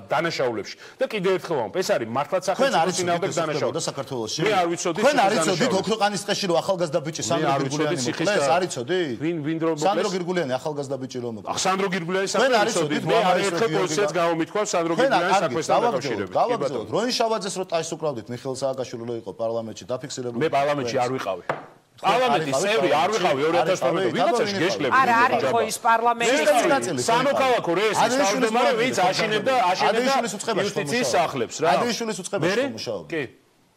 დანაშაულებში და კიდევ ერთხელ ვამბობ ეს არის მართლაც სახელმწიფო წინააღმდეგ დანაშაული საქართველოში მე არ ვიცოდი თქვენ არ იცოდით ოქროყანის ტყეში რომ ახალგაზრდა ბიჭი სანდრო გირგულიანი მოკლეს არ იცოდი ვინ რომ სანდრო გირგულიანი ახალგაზრდა ბიჭი რომ მოკლეს სანდრო გირგულიანი საქმეს მე არაერთხელ პოლიციაც გამომითქვა სანდრო გირგულიანის საქმესთან დაკავშირებით გავაგზავნოთ როინ შავაძეს რო ტაის უკრავდით მიხეილ სააკაშვილი რო იყო პარლამენტში დაფიქსირებული მე პარლამენტში არ ვიყავი პარლამენტის წევრი არ ვიყავი 2012 ვიღაცაში გეშლები არა არ იყო ის პარლამენტის სამოქალაქო რეესტრის თავმჯდომარე ვინც აშენებდა იუსტიციის სახლებს რა ადეიშვილის უწყებაში მუშაობდა კი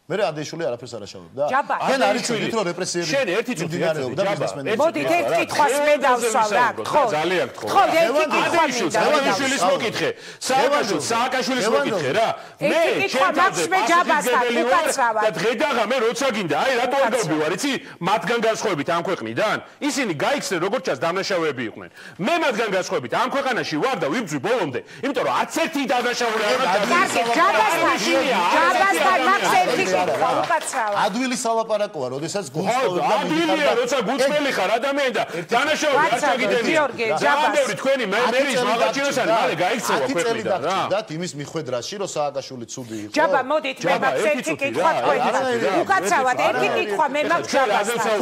მე ადეიშვილი არაფერს არ აშავებდა შენ არის შვილი რომ რეპრესიები შენ ერთი წუთი ბიზნესმენები მოდით ერთ კითხვას მე დავსვამ რა ხო ძალიან გთხოვ ხო ადეიშვილის მოკითხე სააკაშვილის მოკითხე რა მე კითხვა მაქვს მე ჯაბასთან უკაცრავად და დღე და ღამე როცა გინდა აი რატო არ გავბივარ იცი მათგან განსხვავებით ამ ქვეყნიდან ისინი გაიქცნენ როგორც ჩანს დამნაშავეები იყვნენ მე მათგან განსხვავებით ამ ქვეყანაში ვარ და ვიბძვი ბოლომდე იმიტომ რომ არც ერთი დამნაშავე არ არის ჯაბასთან მაქვს ერთი ადვილი სალაპარაკოა, როდესაც გულწრფელი ადვილია, როცა გულწრფელი ხარ ადამიანი და დანაშაული არ ჩაგიდები. ჯაბასი თქვენი მერის მაღაჩინოსანი მალე გაიქცევა ქვეყნიდან რა. და იმის მიხვედრაში, რომ სააკაშვილი ცუდი იყო. ჯაბა, მოდით მე მაქვს ერთი კითხვა თქვენთან. უკაცრავად ერთი კითხვა მე მაქვს ჯაბასთან.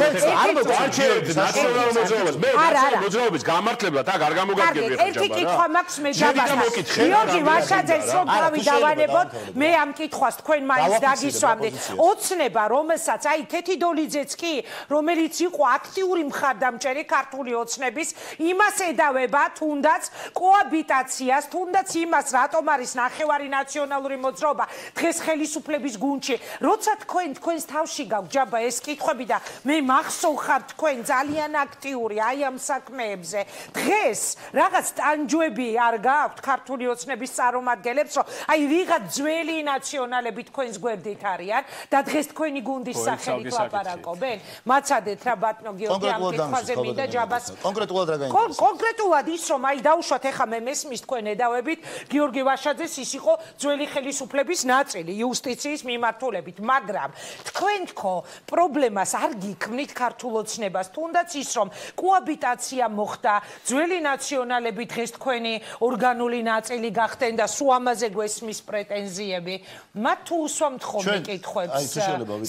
არჩევთ ნაციონალურ მოძრაობას. მე ნაციონალურ მოძრაობის გამართლებლად აქ არ გამოგაგებია ჯაბა. ერთი კითხვა მაქვს მე ჯაბასთან. გიორგი ვაშაძეს რომ თავი დავანებოთ, მე ამ კითხვას თქვენ მაინც დაგისვამთ. ოცნება რომელსაც აი ქეთიდოლიძეც კი რომელიც იყო აქტიური მხარდამჭერი ქართული ოცნების იმას ედავება თუნდაც კოაბიტაციას თუნდაც იმას რატომ არის ნახევარი ნაციონალური მოძრაობა დღეს ხელისუფლების გუნდში როცა თქვენს თავში გავჯაბა ეს კითხვები და მე მახსოვხარ თქვენ ძალიან აქტიური აი ამ საქმეებზე დღეს რაღაც ტანჯვები არ გაქვთ ქართული ოცნების წარმომადგენლებს რომ აი ვიღაც ძველი ნაციონალები თქვენს გვერდით არიან და დღეს თქვენი გუნდის სახელით ლაპარაკობენ? მაცადეთ რა ბატონო გიორგი ამ კითხვაზე მინდა ჯაბას. კონკრეტულად რა გაინტერესებს? კონკრეტულად ის რომ აი დავუშვათ ეხა მე მესმის თქვენ ედავებით გიორგი ვაშაძეს ის იყო ძველი ხელისუფლების ნაწილი იუსტიციის მიმართულებით, მაგრამ თქვენ თქო პრობლემას არ გიქმნით ქართულ ოცნებას, თუნდაც ის რომ კოაბიტაცია მოხდა, ძველი ნაციონალები დღეს თქვენი ორგანული ნაწილი გახდნენ და სულ ამაზე გვესმის პრეტენზიები. მათ თუ უსვამთ ხოლმე კითხვებს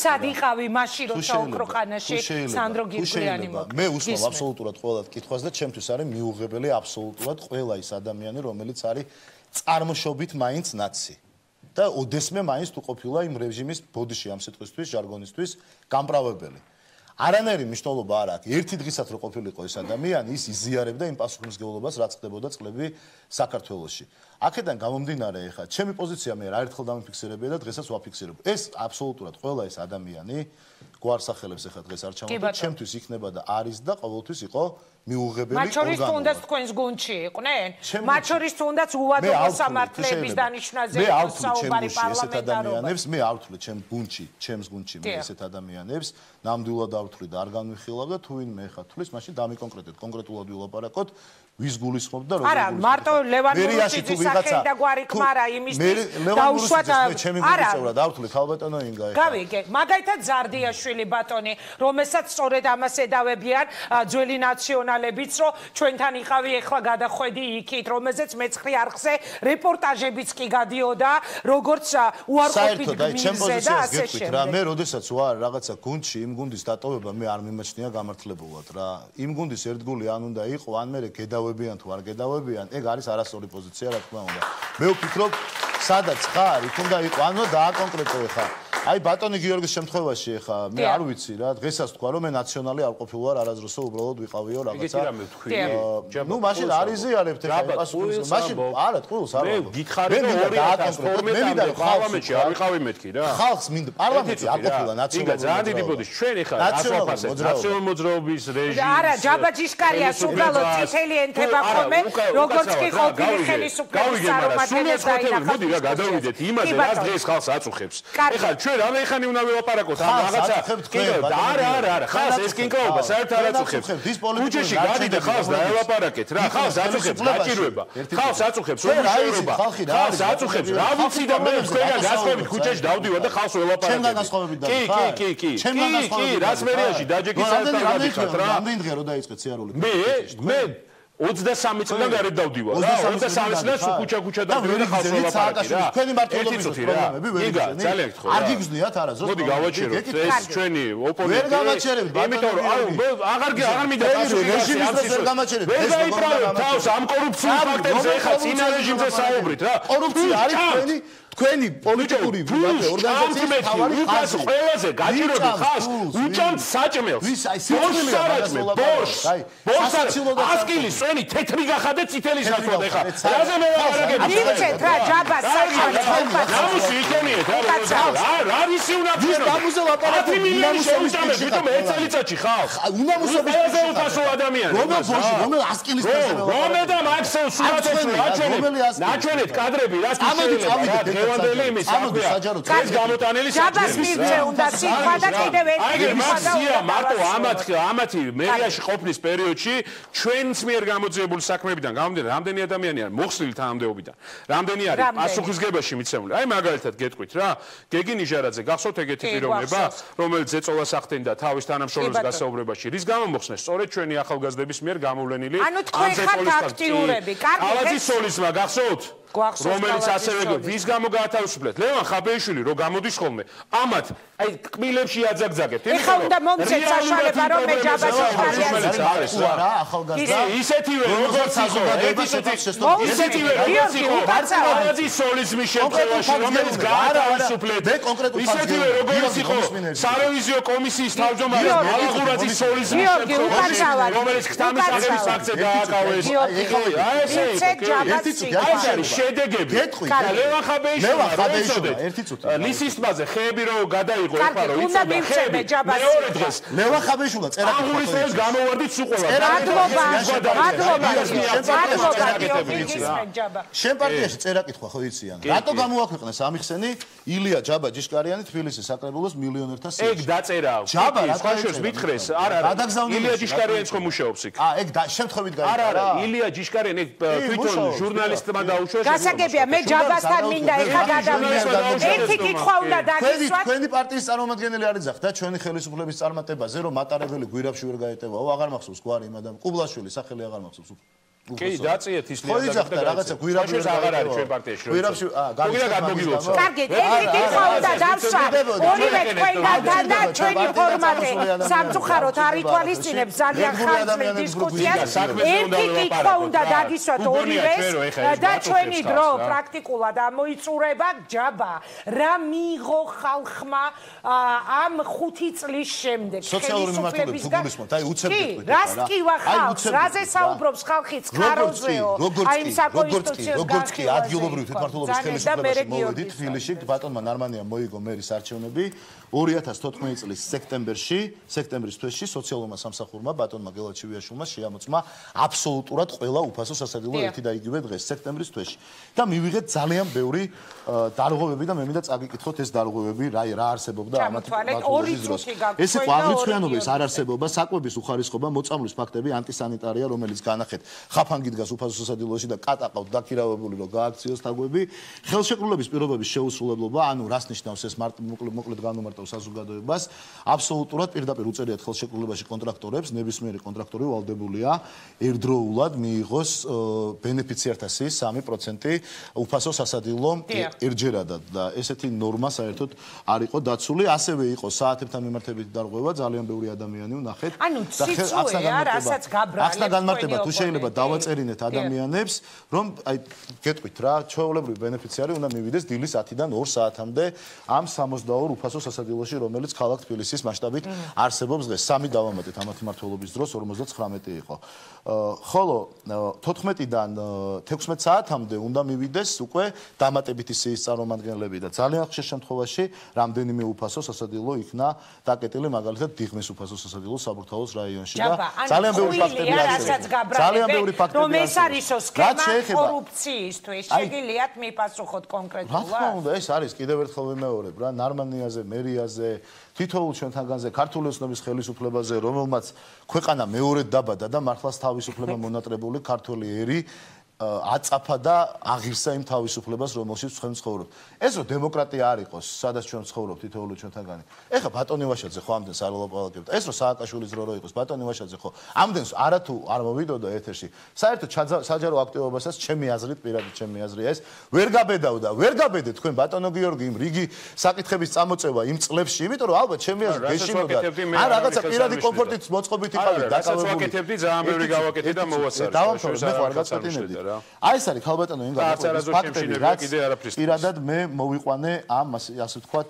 სად იყავი მაშინ როცა ოქროყანაში სანდრო გირგულიანი მოკვდა მე უსვამ აბსოლუტურად ყველა კითხვას და ჩემთვის არის მიუღებელი აბსოლუტურად ყველა ის ადამიანი რომელიც არის წარმოშობით მაინც ნაცი და ოდესმე მაინც თუ ყოფილა იმ რეჟიმის ბოდიში ამ სიტყვისთვის ჟარგონისთვის გამправებელი არანაირი მნიშვნელობა არ აქვს ერთი დღესაც რო ყოფილიყო ეს ადამიანი ის იზიარებდა იმ პასუხისმგებლობას რაც ხდებოდა წლები საქართველოში აქედან გამომდინარე ეხა ჩემი პოზიცია მე არაერთხელ დამიფიქსირებია და დღესაც ვაფიქსირებ ეს აბსოლუტურად ყველა ეს ადამიანი გვარსახელებს ეხა დღეს არ ჩამოვიდა ჩემთვის იქნება და არის და ყოველთვის იყო მიუღებელი მათ შორის თუნდაც თქვენს გუნდში იყვნენ მათ შორის თუნდაც უვადო სამართლების დანიშნაზე საუბარი პარლამენტარობებს მე არ ვთვლი ჩემს გუნდში მე ესეთ ადამიანებს ნამდვილად არ ვთვლი და არ განვიხილავ და თუ ვინმე ეხა თვლის მაშინ დამიკონკრეტეთ კონკრეტულად ვილაპარაკოთ ვის გულისხმობ და როგორ არა მარტო ლევან რუსიძის სახელი და გვარი ქმარა იმისთვის დაუშვათ არა არ ვთვლი ხალბატონო ინგა ეხა გავიგე მაგალითად ზარდიაშვილი ბატონი რომელსაც სწორედ ამას ედავებიან ძველი ნაციონალებიც რომ ჩვენთან იყავი ეხლა გადახვედი იქით რომელზეც მეცხრე არხზე რეპორტაჟებიც კი გადიოდა როგორც უარყოფით გმირზე და ასე შემდეგ რა მე როდესაც ვარ რაღაცა გუნდში იმ გუნდის დატოვება მე არ მიმაჩნია გამართლებულად რა იმ გუნდის ერთგული ან უნდა იყო ან მე გედავებიან თუ არ გედავებიან ეგ არის არასწორი პოზიცია რა თქმა უნდა მე ვფიქრობ სადაც ხარ იქ უნდა იყო ანუ დააკონკრეტო ხარ აი ბატონი გიორგის შემთხვევაში ეხა მე არ ვიცი რა დღესაც თქვა რომ მე ნაციონალი არ ყოფილი ვარ არაზროსო უბრალოდ ვიყავიო რაღაცა ნუ მაშინ არ იზიარებთ ეხა პასუხის მაშინ არა ტყუილს არ ვარ მე გითხარი რომ 2012-მდე პარლამენტში არ ვიყავი მეთქი რა ხალხს მინდა პარლამენტში არ ყოფილა ნაციონალური ძალიან დიდი ბოდი ჩვენ ეხა ნაციონალური მოძრაობის რეჟიმი არა ჯაბაჯიშკარია უბრალოდ წითელი ენთება ხოლმე როგორც კი ყოფილი ხელისუფლების წარმომადგენელი დაინახავს მოდი რა გადავიდეთ იმაზე რა დღეს ხალხს აწუხებს ეხლა ჩვენ რამე უნდა ველაპარაკოთ ამ რაღაცა არა ხალხს ეს კინკლაობა საერთოდ არ აწუხებს კუჩეში გადიდე ხალხს დაელაპარაკეთ რა ხალხს აწუხებს გაჭირვება ხალხს აწუხებს უმუშევრობა ხალხს აწუხებს რა ვიცი და მე თქვენგან გასხოვებით კუჩეში დავდივარ და ხალხს ველაპარაკეთ კი რას მერიაში დაჯექი საერთოდ არ გადიხართ რა რამდენი დღეა რომ დაიწყეთ სიარული მე 23 წლიდან გარეთ დავდივარ რა 23 წლიდან კუჩა დავდივარ და ხალხს ველაპარაკე რა თქვენი მართლობის პრობლემები ვერ იგრძნით ძალიან გთხოვ არ გიგრძნიათ არასდროს მოდი გავაჩეროთ ეს ჩვენი ოპონენტი ვერ გავაჩერებთ იმიტომ რომ აღარ მინდა რეჟიმის ვერ გამაჩერებთ ვერ დაიправებთ თავს ამ კორუფციულ ფაქტებზე ეხლა წინა რეჟიმზე საუბრით რა კორუფცია არის თქვენი პოლიტიკური ორგანიზაციის თავარი ხაზი ყველაზე გაჭირვები ხალხს უჭამთ საჭმელს ბორს ასკილის წვენი თეთრი გახადე წითელი საქმოდ ეხა რაზე მე ვარაგები მივცეთ რა ჯაბას საჭმელს გამოსი იქონიეთ რა რისი უნდა გამოსე ლაპარაკი 10 მილიონი შეუჭამეთ ვიტომ ერთ წელიწადში ხალხს უნამუსობის ყველაზე უთასო ადამიანი რომელ ასკილის რომელ და მაქსიმუმ სურათებში ნაჩვენეთ კადრები რა შეიძლება გევანდელი იმის საქმეა ეს გამოტანილი ჯაბას მივცე უნდა სიტყვა და კიდევ ერთი მაქსია მარტო ამათი მერიაში ყოფნის პერიოდში ჩვენს მიერ გამოძიებული საქმეებიდან გამომდინარე რამდენი ადამიანი არის მოხსნილი თანამდებობიდან რამდენი არის პასუხისგებაში მიცემული აი მაგალითად გეტყვით რა გეგი ნიჟარაძე გახსოვთ ეგეთი პიროვნება რომელიც ზეწოლას ახდენდა თავის თანამშრომლების გასაუბრებაში რის გამო მოხსნეს სწორედ ჩვენი ახალგაზრდების მიერ გამოვლენილი ანუ თქვენ ხართ აქტიურები კარგი ალაძის სოლისმა გახსოვთ რომელიც ასევე ვის გამო გაათავისუფლეთ ლევან ხაბეიშვილი რო გამოდის ხოლმე ამათ აი კბილებში აძაგძაგებთ ეხლა უნდა მომცეთ საშუალება რომ მე ჯაბაჯიშკარიანს არის რა ახალგაზრდა ისეთივე როგორც ისეთივე როგორც იყო ალაძის სოლისმის შემთხვევაში რომელიც გაათავისუფლეთ ისეთივე როგორც იყო სარევიზიო კომისიის თავმჯდომარე ალაღურაძის სოლისმის შემთხვევაში რომელიც ხთამის აღების ფაქტზე დააკავეს შედეგები ლევან ხაბეიშვილი ერთი წუთი ლისის ტბაზე ხეები რო გადაიღო ეხლა რო იცოდა ხეები მეორე დღეს ლევან ხაბეიშვილა წერაკი აღურის გამოვარდით სუყოლა შენ პარტიაში წერაკითხვა ხო იციან რატო გამოაქვეყნეს ამიხსენი ილია ჯაბაჯიშკარიანი თბილისის საკრებულოს მილიონერთა სიაში ეგ დაწერა ჯაბა რა თქვენს მითხრეს არა ილია ჯიშკარიანიც ხომ მუშაობს იქ ეგ შემთხვევით გაიგო არა ილია ჯიშკარიანი თვითონ ჟურნალისტმა დაუშვეს გასაგებია მე ჯაბასთან მინდა ეხა გადავიდე ერთი კითხვა უნდა დაგისვათ თქვენი პარტიის წარმომადგენელი არის ახლა ჩვენი ხელისუფლების წარმატებაზე რომ მატარებელი გვირაბში ვერ გაეტევაო აღარ მახსოვს გვარი იმ адам კუბლაშვილი სახელი აღარ მახსოვს კი დაწიეთ ის ხო იძახდა რაღაცა გვირაბში აღარ არის ჩვენ პარტიაში გვირაბში გოგინა გადმოგილოცო კარგი ერთი კითხვა უნდა დავსვათ ორივე თქვენგანთან და ჩვენი ფორმატი სამწუხაროდ არ ითვალისწინებს ძალიან ხანძრით დისკუსიას ერთი კითხვა უნდა დაგისვათ ორივეს და ჩვენი დრო პრაქტიკულად ამოიწურება ჯაბა რა მიიღო ხალხმა ამ 5 წლის შემდეგ ხელისუფლების გულისხმობთ აი უცებ გეტყვით რას კივა ხალხს რაზე საუბრობს ხალხი როგორც კი ადგილობრივი თვითმმართველობის ხელისუფლებაში მოვედით თბილისში ბატონმა ნარმანიამ მოიგო მერის არჩევნები 2014 წლის სექტემბრის თვეში სოციალურმა სამსახურმა ბატონმა გელაჩივიაშვილმა შეამოწმა აბსოლუტურად ყველა უფასო სასადილო ერთი და იგივე დღეს სექტემბრის თვეში და მივიღეთ ძალიან ბევრი დარღვევები და მე მინდა წაგიკითხოთ ეს დარღვევები რა არსებობდა ამათ ბატონობის დროს ეს იყო აღრიცხვიანობის არარსებობა საკვების უხარისხობა მოწამვლის ფაქტები ანტისანიტარია რომელიც განახეთ ხაფანგი დგას უფასო სასადილოში და კატაყავთ დაქირავებული რომ გააქციოს თაგვები ხელშეკრულების პირობების შეუსრულებლობა ანუ რას ნიშნავს ეს მოკლედ განუმარტავ საზოგადოებას აბსოლუტურად პირდაპირ უწერიათ ხელშეკრულებაში კონტრაქტორებს ნებისმიერი კონტრაქტორი ვალდებულია ერთდროულად მიიღოს ბენეფიციართა სიის 3% უფასო სასადილო ერთჯერადად და ესეთი ნორმა საერთოდ არ იყო დაცული ასევე იყო საათებთან მიმართებით დარღვევა ძალიან ბევრი ადამიანი ვნახეთ ანუ ციცუეა რასაც გაბრალებს ახლა განმარტება თუ შეიძლება დავაწერინეთ ადამიანებს, რომ აი გეტყვით რა, ჩვეულებრივი ბენეფიციარი უნდა მივიდეს დილის 10-დან 2 საათამდე ამ 62 უფასო სასადილოში, რომელიც ქალაქ თბილისის მასშტაბით არსებობს დღეს. 3 დავამატეთ ამათი მმართველობის დროს 59 იყო. ხოლო 14-დან 16 საათამდე უნდა მივიდეს უკვე დამატებითი სიის წარმომადგენლები და ძალიან ხშირ შემთხვევაში რამდენიმე უფასო სასადილო იქნა დაკეტილი, მაგალითად დიღმის უფასო სასადილო საბურთალოს რაიონში და ძალიან ბევრი ფაქტები არსებობს. ძალიან ბევრი ფაქტები რომ ეს არისო სქემა კორუფციისთვის შეგიძლიათ მიპასუხოთ კონკრეტულად? რა თქმა უნდა, ეს არის კიდევ ერთხელ ვიმეორებ რა, ნარმანიაზე, მერიაზე, თითოეულ ჩვენთანგანზე, ქართული ოცნების ხელისუფლებაზე, რომელმაც ქვეყანა მეორედ დაბადა და მართლაც თავისუფლება მონატრებული ქართული ერი აწაფა და აღირსა იმ თავისუფლებას, რომელშიც ჩვენ ცხოვრობთ. ეს რომ დემოკრატია არ იყოს, სადაც ჩვენ ცხოვრობთ თითოეული ჩვენთაგანი. ეხლა ბატონი ვაშაძე ხო ამდენს არ ელაპარაკებდა. ეს რომ სააკაშვილის დრო რო იყოს, ბატონი ვაშაძე ხო ამდენს არათუ არ მოვიდოდა ეთერში. საერთოდ საჯარო აქტივობასაც ჩემი აზრით, პირადად ჩემი აზრია ეს, ვერ გაბედავდა, ვერ გაბედეთ თქვენ ბატონო გიორგი იმ რიგი საკითხების წამოწევა იმ წლებში, იმიტომ რომ ალბათ ჩემი აზრით გეშინოდა. ან რაღაცა პირადი კომფორტით მოწყობით იყავით დაკავებული. ვაკეთებდი ძალიან ბევრი გავაკეთე და მოვასწარე. დავამთავრე, მე ხარ გაწყვეტინებდი. აი ეს არის ხალბატონო იმ ფაქტები, რაც პირადად მე მოვიყვანე ამ ასე ვთქვათ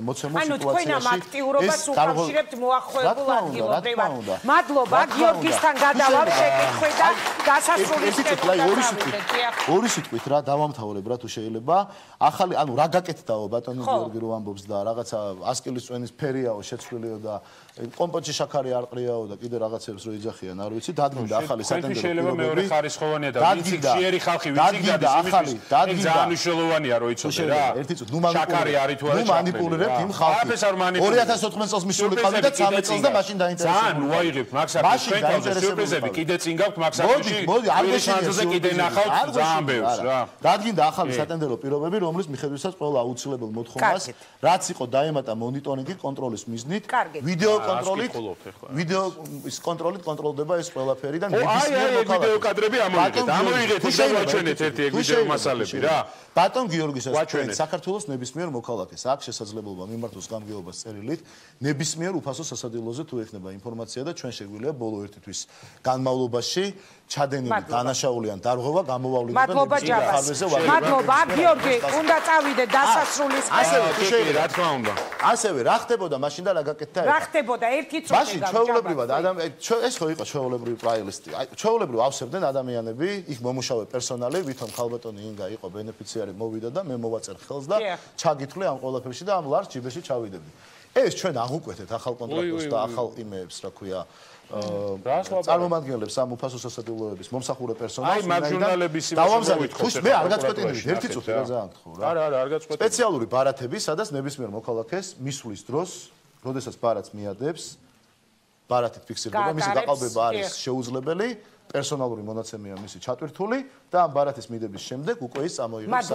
მოცემულ სიტუაციაში. ანუ თქვენ ამ აქტიურობას უკავშირებთ მოახლოებულ ადგილობრივად. მადლობა გიორგისთან გადავალ შეკითხვით და დასასრულის ორი სიტყვით რა დავამთავრებ რა თუ შეიძლება. ახალი ანუ რა გაკეთდაო ბატონი გიორგი რო ამბობს და რაღაცა 100 კილის წვენის ფერიაო შეცვლილიო და კომპოტში შაქარი არ ყრიაო და კიდე რაღაცებს რო იძახიან არ ვიცი დადგინდა ახალი სატენდერო შეიძლება მეორე ხარისხოვანია და ვიცი ხიერი ხალხი ვიცი გადის იმისთვის ძალიან მნიშვნელოვანია რო იცოდე რა ერთი წუთი შაქარი არის თუ არა მანიპულირებთ იმ ხალხს 2014 წელს მისული ყავი და 13 წელს და მაშინ დაინტერესებული ძალიან უაიღებთ მაქსაკის თქვენთან სიურპრიზები კიდე წინ გაქვთ მაქსაკში მოდი არ გეშინიაზე კიდე ნახავთ ძალიან ბევრს რა დადგინდა ახალი სატენდერო პირობები რომლის მიხედვითაც ყველა აუცილებელ მოთხოვნას რაც იყო დაემატა მონიტორინგით კონტროლის მიზნით ვიდეო კონტროლით ვიდეო ის კონტროლით კონტროლდება ეს ყველაფერი და ნებისმიერ მოქალაქეს ვიდეო კადრები ამოიღეთ და ვაჩვენეთ ერთი ეგ ვიდეო მასალები რა ბატონ გიორგისაც თქვენ საქართველოს ნებისმიერ მოქალაქეს აქვს შესაძლებლობა მიმართოს გამგეობას წერილით ნებისმიერ უფასო სასადილოზე თუ ექნება ინფორმაცია და ჩვენ შეგვიძლია ბოლო ერთი თვის განმავლობაში ჩადენილი დანაშაული ან დარღვევა გამოვავლინოთ და ნებისმიერ ხარვეზე ვაგებთ მადლობა გიორგი უნდა წავიდე დასასრულის ასევე თუ შეიძლება რა თქმა უნდა ასევე რა ხდებოდა მაშინ და რა გაკეთდა რა ხდებოდა ერთი წუთი მაშინ ჩვეულებრივად ეს ხო იყო ჩვეულებრივი პრაილისტი ჩვეულებრივ ავსებდნენ ადამიანები იქ მომუშავე პერსონალი ვითომ ხალბატონი ინგა იყო ბენეფიციარი მოვიდა და მე მოვაწერ ხელს და ჩაგითვლე ამ ყველაფერში და ამ ლარს ჯიბეში ჩავიდები ეს ჩვენ აღუკვეთეთ ახალ კონტრაქტს და ახალ იმეებს რა ქვია წარმომადგენლებს ამ უფასო სასადილოების მომსახურე პერსონალს აი მაგ ჟურნალების დავამზადეთ მე არ გაწყვეტინებთ ერთი წუთი რა ძალიან გთხოვ რა არა არ გაწყვეტინებთ სპეციალური ბარათები სადაც ნებისმიერ მოქალაქეს მისვლის დროს როდესაც ბარათს მიადებს ბარათით ფიქსირდება მისი გაყალბება არის შეუძლებელი პერსონალური მონაცემია მისი ჩატვირთული და ამ ბარათის მიდების შემდეგ უკვე ის წამოიღებს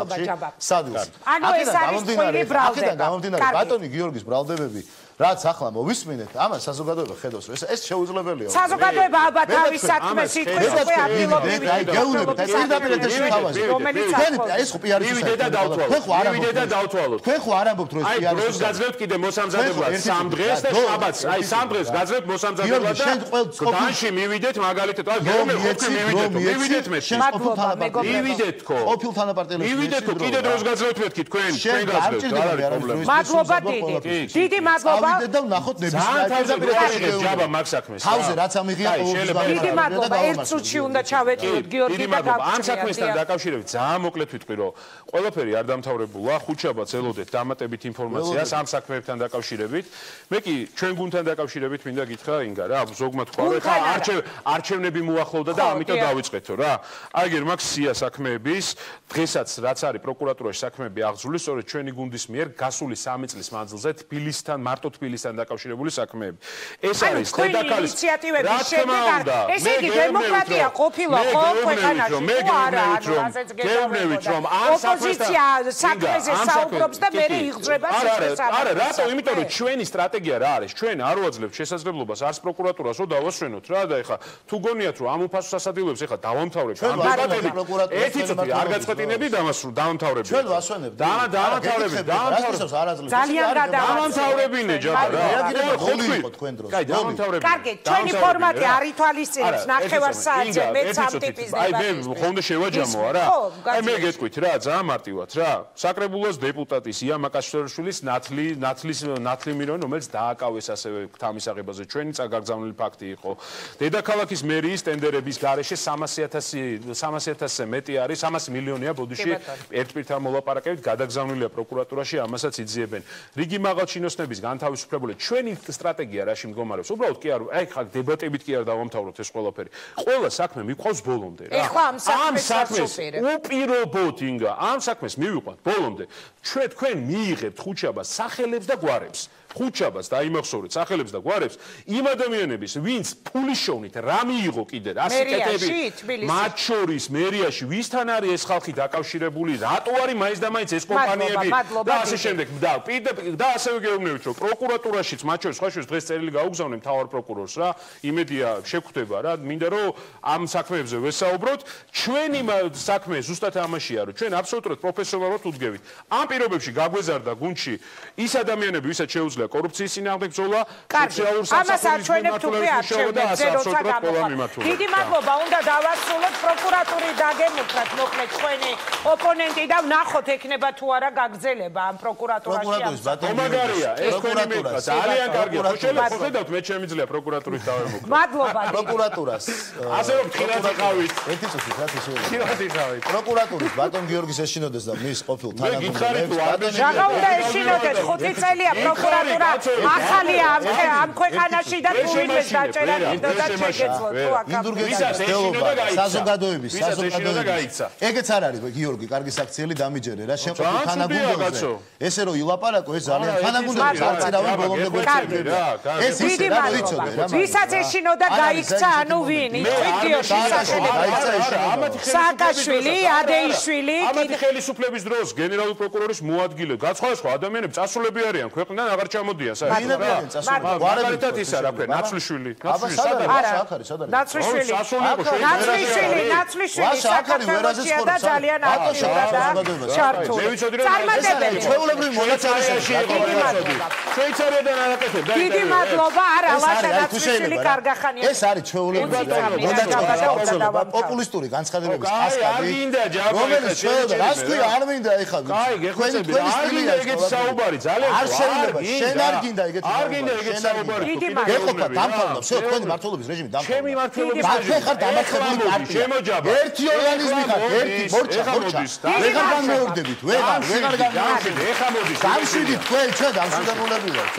სადილს. ანუ ეს არის თქვენი ბრალდება. გამომდინარე ბატონი გიორგის ბრალდებები რაც ახლა მოვისმინეთ, ამას საზოგადოება ხედავს, რომ ეს შეუძლებელია. საზოგადოება ალბათ თავის საქმეს იტყვის უკვე ადგილობრივი. აი გეუბნებით, ეს პირდაპირ ეთერში თავაზი. ეს ხო პიარის მივიდე და დავთვალოთ. მივიდე და დავთვალოთ. თქვენ ხო არ ამბობთ რომ ეს პიარის. აი დროს გაძლევთ კიდე მოსამზადებლად 3 დღეს და შაბათს. აი 3 დღეს გაძლევთ მოსამზადებლად და განში მივიდეთ მაგალითად. აი მივიდეთ მე. მივიდეთ ხო. ყოფილ თანაპარტიელებს მივიდეთ ხო კიდე დროს გაძლევთ მეთქი თქვენ გაძლევთ რა არის პრობლემა. მადლობა დიდი. დიდი მადლობა. ავიდეთ და ვნახოთ ნებისმიერ ჯაბა მაგ საქმეს. თავზე რაც ამიღია ყოველთვის დიდი მადლობა. ერთ წუთში უნდა ჩავეტიოთ გიორგი და ამ საქმესთან დაკავშირებით ძალიან მოკლედ ვიტყვი რომ ყველაფერი არ დამთავრებულა. ხუთშაბათს ელოდეთ დამატებით ინფორმაციას ამ საქმეებთან დაკავშირებით. მე კი ჩვენ გუნდთან დაკავშირებით მინდა გითხრა ინგა რა ზოგმა თქვა რომ ხა არჩევნები მოახლოვდა და ამიტომ დავიწყეთო რა. აგერ მაგ სია საქმეების დღესაც რაც არის პროკურატურაში საქმეები აღძრული სწორედ ჩვენი გუნდის მიერ გასული 3 წლის მანძილზე თბილისთან მარტო თბილისთან დაკავშირებული საქმეები. ეს არის დედაქალის ინიციატივების შედეგად. ესე იგი დემოკრატია ყოფილა ხო ქვეყანაში? მე გეუბნებით რომ ამ ოპოზიცია საქმეზე საუბრობს და მე იღძრება შესაძლებლობას. არა, რატო? იმიტომ რომ ჩვენი სტრატეგია რა არის? ჩვენ არ ვაძლევთ შესაძლებლობას არც პროკურატურას რომ დავასვენოთ რა და ეხა თუ გონიათ რომ ამ უფასო სასადილოებს ეხა დავამთავრებთ ამ დაბადებით ერთი წუთი არ გაწყვეტინებდი დავამთავრებდი. ჩვენ ვასვენებთ. დავამთავრებდი. ძალიან გადავაცდეთ. დავამთავრებინე ჯაბა რა. როლი იყო თქვენ დროს. კაი, დამთავრებული. კარგი, ჩვენი ფორმატი არ ითვალისწინებს ნახევარსაათზე მეც ამ ტიპის დებატს. აი მე ხონდა შევაჯამო არა? აი მე გეტყვით რა, ძალიან მარტივად რა. საკრებულოს დეპუტატის ია მაკაშვილის ნათლი მირონი, რომელიც დააკავეს ასევე თამისაღებაზე. ჩვენი წაგაგზავნილი ფაქტი იყო. დედაქალაქის მერიის ტენდერების გარეშე 300,000-ზე მეტი არის, 300 მილიონია ბოდიში ერთ პირთან მოლაპარაკებით გადაგზავნილია პროკურატურაში, ამასაც იძიებენ. რიგი მაღალჩინოსნების განთავისუფლებული ჩვენი სტრატეგია რაში მდგომარეობს? უბრალოდ კი არ, აი ხა დებატებით კი არ დავამთავროთ ეს ყველაფერი. ყველა საქმე მიყვავს ბოლომდე რა. ეხლა ამ საქმეს უპირობოთ ინგა, ამ საქმეს მივიყვანთ ბოლომდე. თქვენ მიიღებთ ხუჩაბას სახელებს და გვარებს. ხუჩაბას დაიმახსოვრეთ სახელებს და გვარებს იმ ადამიანების ვინც ფულის შოვნით რა მიიღო კიდე რასი კეთები მათ შორის მერიაში ვისთან არის ეს ხალხი დაკავშირებული რატო არის მაინც და მაინც ეს კომპანიები და ასე შემდეგ და ასევე გეუბნებით რომ პროკურატურაშიც მათ შორის სხვა შორის დღეს წერილი გაუგზავნე მთავარ პროკურორს რა იმედია შეგვხვდება რა მინდა რომ ამ საქმეებზე ვესაუბროთ ჩვენი საქმე ზუსტად ამაშია რომ ჩვენ აბსოლუტურად პროფესიონალურად უდგებით ამ პირობებში გაგვეზარდა გუნდში ის ადამიანები ვისაც შეუძლია კორუფციის წინააღმდეგ ბრძოლა, სოციალურ სამსახურის მიმართულებით. დიდი მადლობა, უნდა დავასრულოთ პროკურატურის დაგემუქრათ, მოკლედ თქვენი ოპონენტი და ვნახოთ ექნება თუ არა გაგრძელება ამ პროკურატურაში. მომაგარია, ეს თქვენი მითხრა, ძალიან კარგია. ხედავთ, მე შემიძლია პროკურატურის დავემუქრა. მადლობა. პროკურატურას. ასე რომ ხილათი ყავით. ერთი წუთი, რა შეიძლება. ხილათი ყავით. პროკურატურის ბატონ გიორგის ეშინოდეს და მის ყოფილ თანამდებობებს. რა უნდა ეშინოდეს 5 წელია პროკურატურა ახალია ამ ქვეყანაში და თუ ვინმეს დაჭერა გინდოდა შეგეძლო თუ აკაბინოს საზოგადოების ეგეც არ არის გიორგი კარგი საქციელი დამიჯერე რა შეყვეთ თანაგუნდოზე ესე რომ ილაპარაკო ეს ძალიან თანაგუნდოების არწირავენ ბოლომდე გვეცები რა ეს ისე რა ვიცოდე რა ვისაც ეშინოდა გაიქცა ანუ ვინ იტყვით გიორგი სააკაშვილი ადეიშვილი ამათი ხელისუფლების დროს გენერალური პროკურორის მოადგილე გაცხადსხვა ადამიანები წასულები არიან ქვეყნიდან აღარ ჩამოდიან საერთოდ რა მაგალითად ისა რა ქვია ნაცვლიშვილი ნაცვლიშვილი საქართველოში და ძალიან აქტიურად ჩართული მე ვიცოდი რომ ჩვეულებრივი მონაწილეებში შვეიცარიიდან არაკეთებ დიდი მადლობა არა ლაშა ნაცვლიშვილი კარგახანია ეს არის ჩვეულებრივი პოპულისტური განცხადებების კასკადი რომელიც შეიძლება რას ქვია არ მინდა ეხლა თქვენი სტილი ეგეთ საუბარი ძალიან არ შეიძლება შენ არ გინდა ეგეთი არ გინდა ეგეთ საუბარი ეყოფა დამთავრდა всё თქვენი მართლობის რეჟიმი დამთავრდა ჩემი მართლობის რეჟიმი ხარ დამარცხებული პარტია შემოჯაბა ერთი ორგანიზმი ხარ ერთი მორჩა ვეღარ განმეორდებით ვეღარ განმეორდებით ეხა მოდის დამშვიდით თქვენ ჩვენ დამშვიდებულები ვართ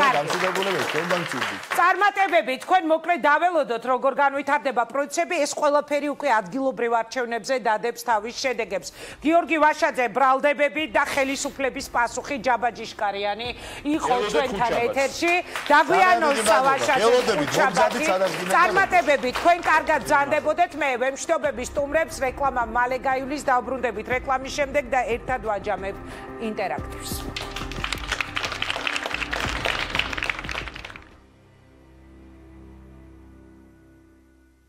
ჩვენ დამშვიდით წარმატებები თქვენ მოკლედ დაველოდოთ როგორ განვითარდება პროცესები ეს ყველაფერი უკვე ადგილობრივ არჩევნებზე დადებს თავის შედეგებს გიორგი ვაშაძე ბრალდებები და ხელისუფლების პასუხი ჯაბაჯიშკარიანი იყო ჩვენთან ეთერში დაგვიანოს სავაშაძე წარმატებები თქვენ კარგად ბრძანდებოდეთ მე ვემშვიდობები სტუმრებს რეკლამა მალე გაივლის დავბრუნდებით რეკლამის შემდეგ და ერთად ვაჯამებთ ინტერაქტივს